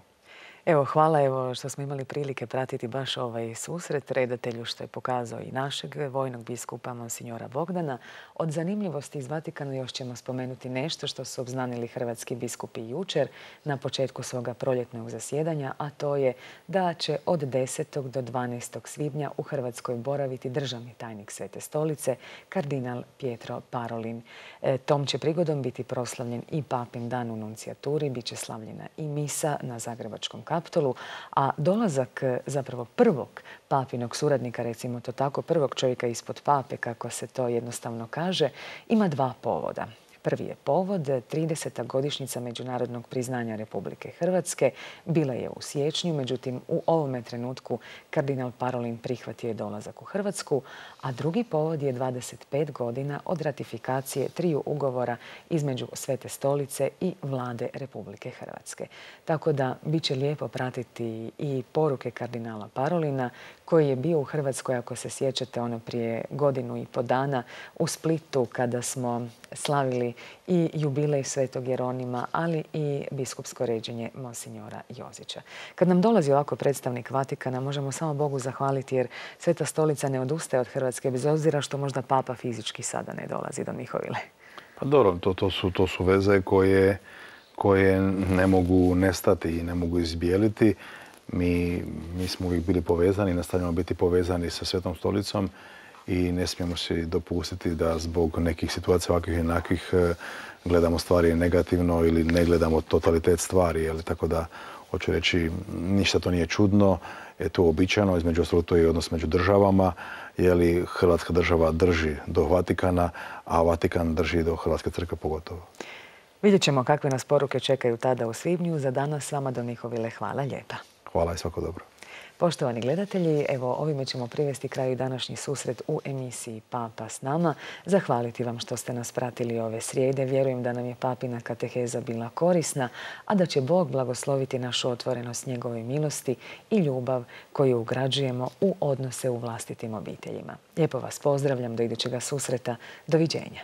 Evo, hvala evo, što smo imali prilike pratiti baš ovaj susret redatelju što je pokazao i našeg vojnog biskupa Monsignora Bogdana. Od zanimljivosti iz Vatikana još ćemo spomenuti nešto što su obznanili hrvatski biskupi jučer na početku svoga proljetnog zasjedanja, a to je da će od desetog do dvanaestog svibnja u Hrvatskoj boraviti državni tajnik Svete stolice, kardinal Pietro Parolin. E, tom će prigodom biti proslavljen i papin dan u nuncijaturi, bit će slavljena i misa na Zagrebačkom Kaptolu, a dolazak zapravo prvog papinog suradnika, recimo to tako, prvog čovjeka ispod pape, kako se to jednostavno kaže, ima dva povoda. Prvi je povod, trideseta godišnjica međunarodnog priznanja Republike Hrvatske. Bila je u siječnju, međutim u ovome trenutku kardinal Parolin prihvatio je dolazak u Hrvatsku, a drugi povod je dvadeset pet godina od ratifikacije triju ugovora između Svete stolice i vlade Republike Hrvatske. Tako da bit će lijepo pratiti i poruke kardinala Parolina, koji je bio u Hrvatskoj, ako se sjećate, ono prije godinu i po dana u Splitu kada smo slavili i jubilej Svetog Jeronima, ali i biskupsko ređenje Monsignora Jozića. Kad nam dolazi ovako predstavnik Vatikana, možemo samo Bogu zahvaliti jer Sveta stolica ne odustaje od Hrvatske, bez obzira što možda papa fizički sada ne dolazi do Mihovile. Pa dobro, to, to, su, to su veze koje, koje ne mogu nestati i ne mogu izbijeliti. Mi, mi smo uvijek bili povezani, nastavljamo biti povezani sa Svetom stolicom i ne smijemo si dopustiti da zbog nekih situacija ovakvih i onakvih gledamo stvari negativno ili ne gledamo totalitet stvari. Jel? Tako da, hoću reći, ništa to nije čudno, je to uobičajeno, između ostalog to je odnos među državama, jer Hrvatska država drži do Vatikana, a Vatikan drži do Hrvatske crkve pogotovo. Vidjet ćemo kakve nas poruke čekaju tada u svibnju. Za danas vama do Mihovile hvala lijepa. Hvala i svako dobro. Poštovani gledatelji, evo ovime ćemo privesti kraju današnji susret u emisiji Papa s nama. Zahvaliti vam što ste nas pratili ove srijede. Vjerujem da nam je papina kateheza bila korisna, a da će Bog blagosloviti našu otvorenost njegove milosti i ljubav koju ugrađujemo u odnose u vlastitim obiteljima. Lijepo vas pozdravljam do idućega susreta. Doviđenja.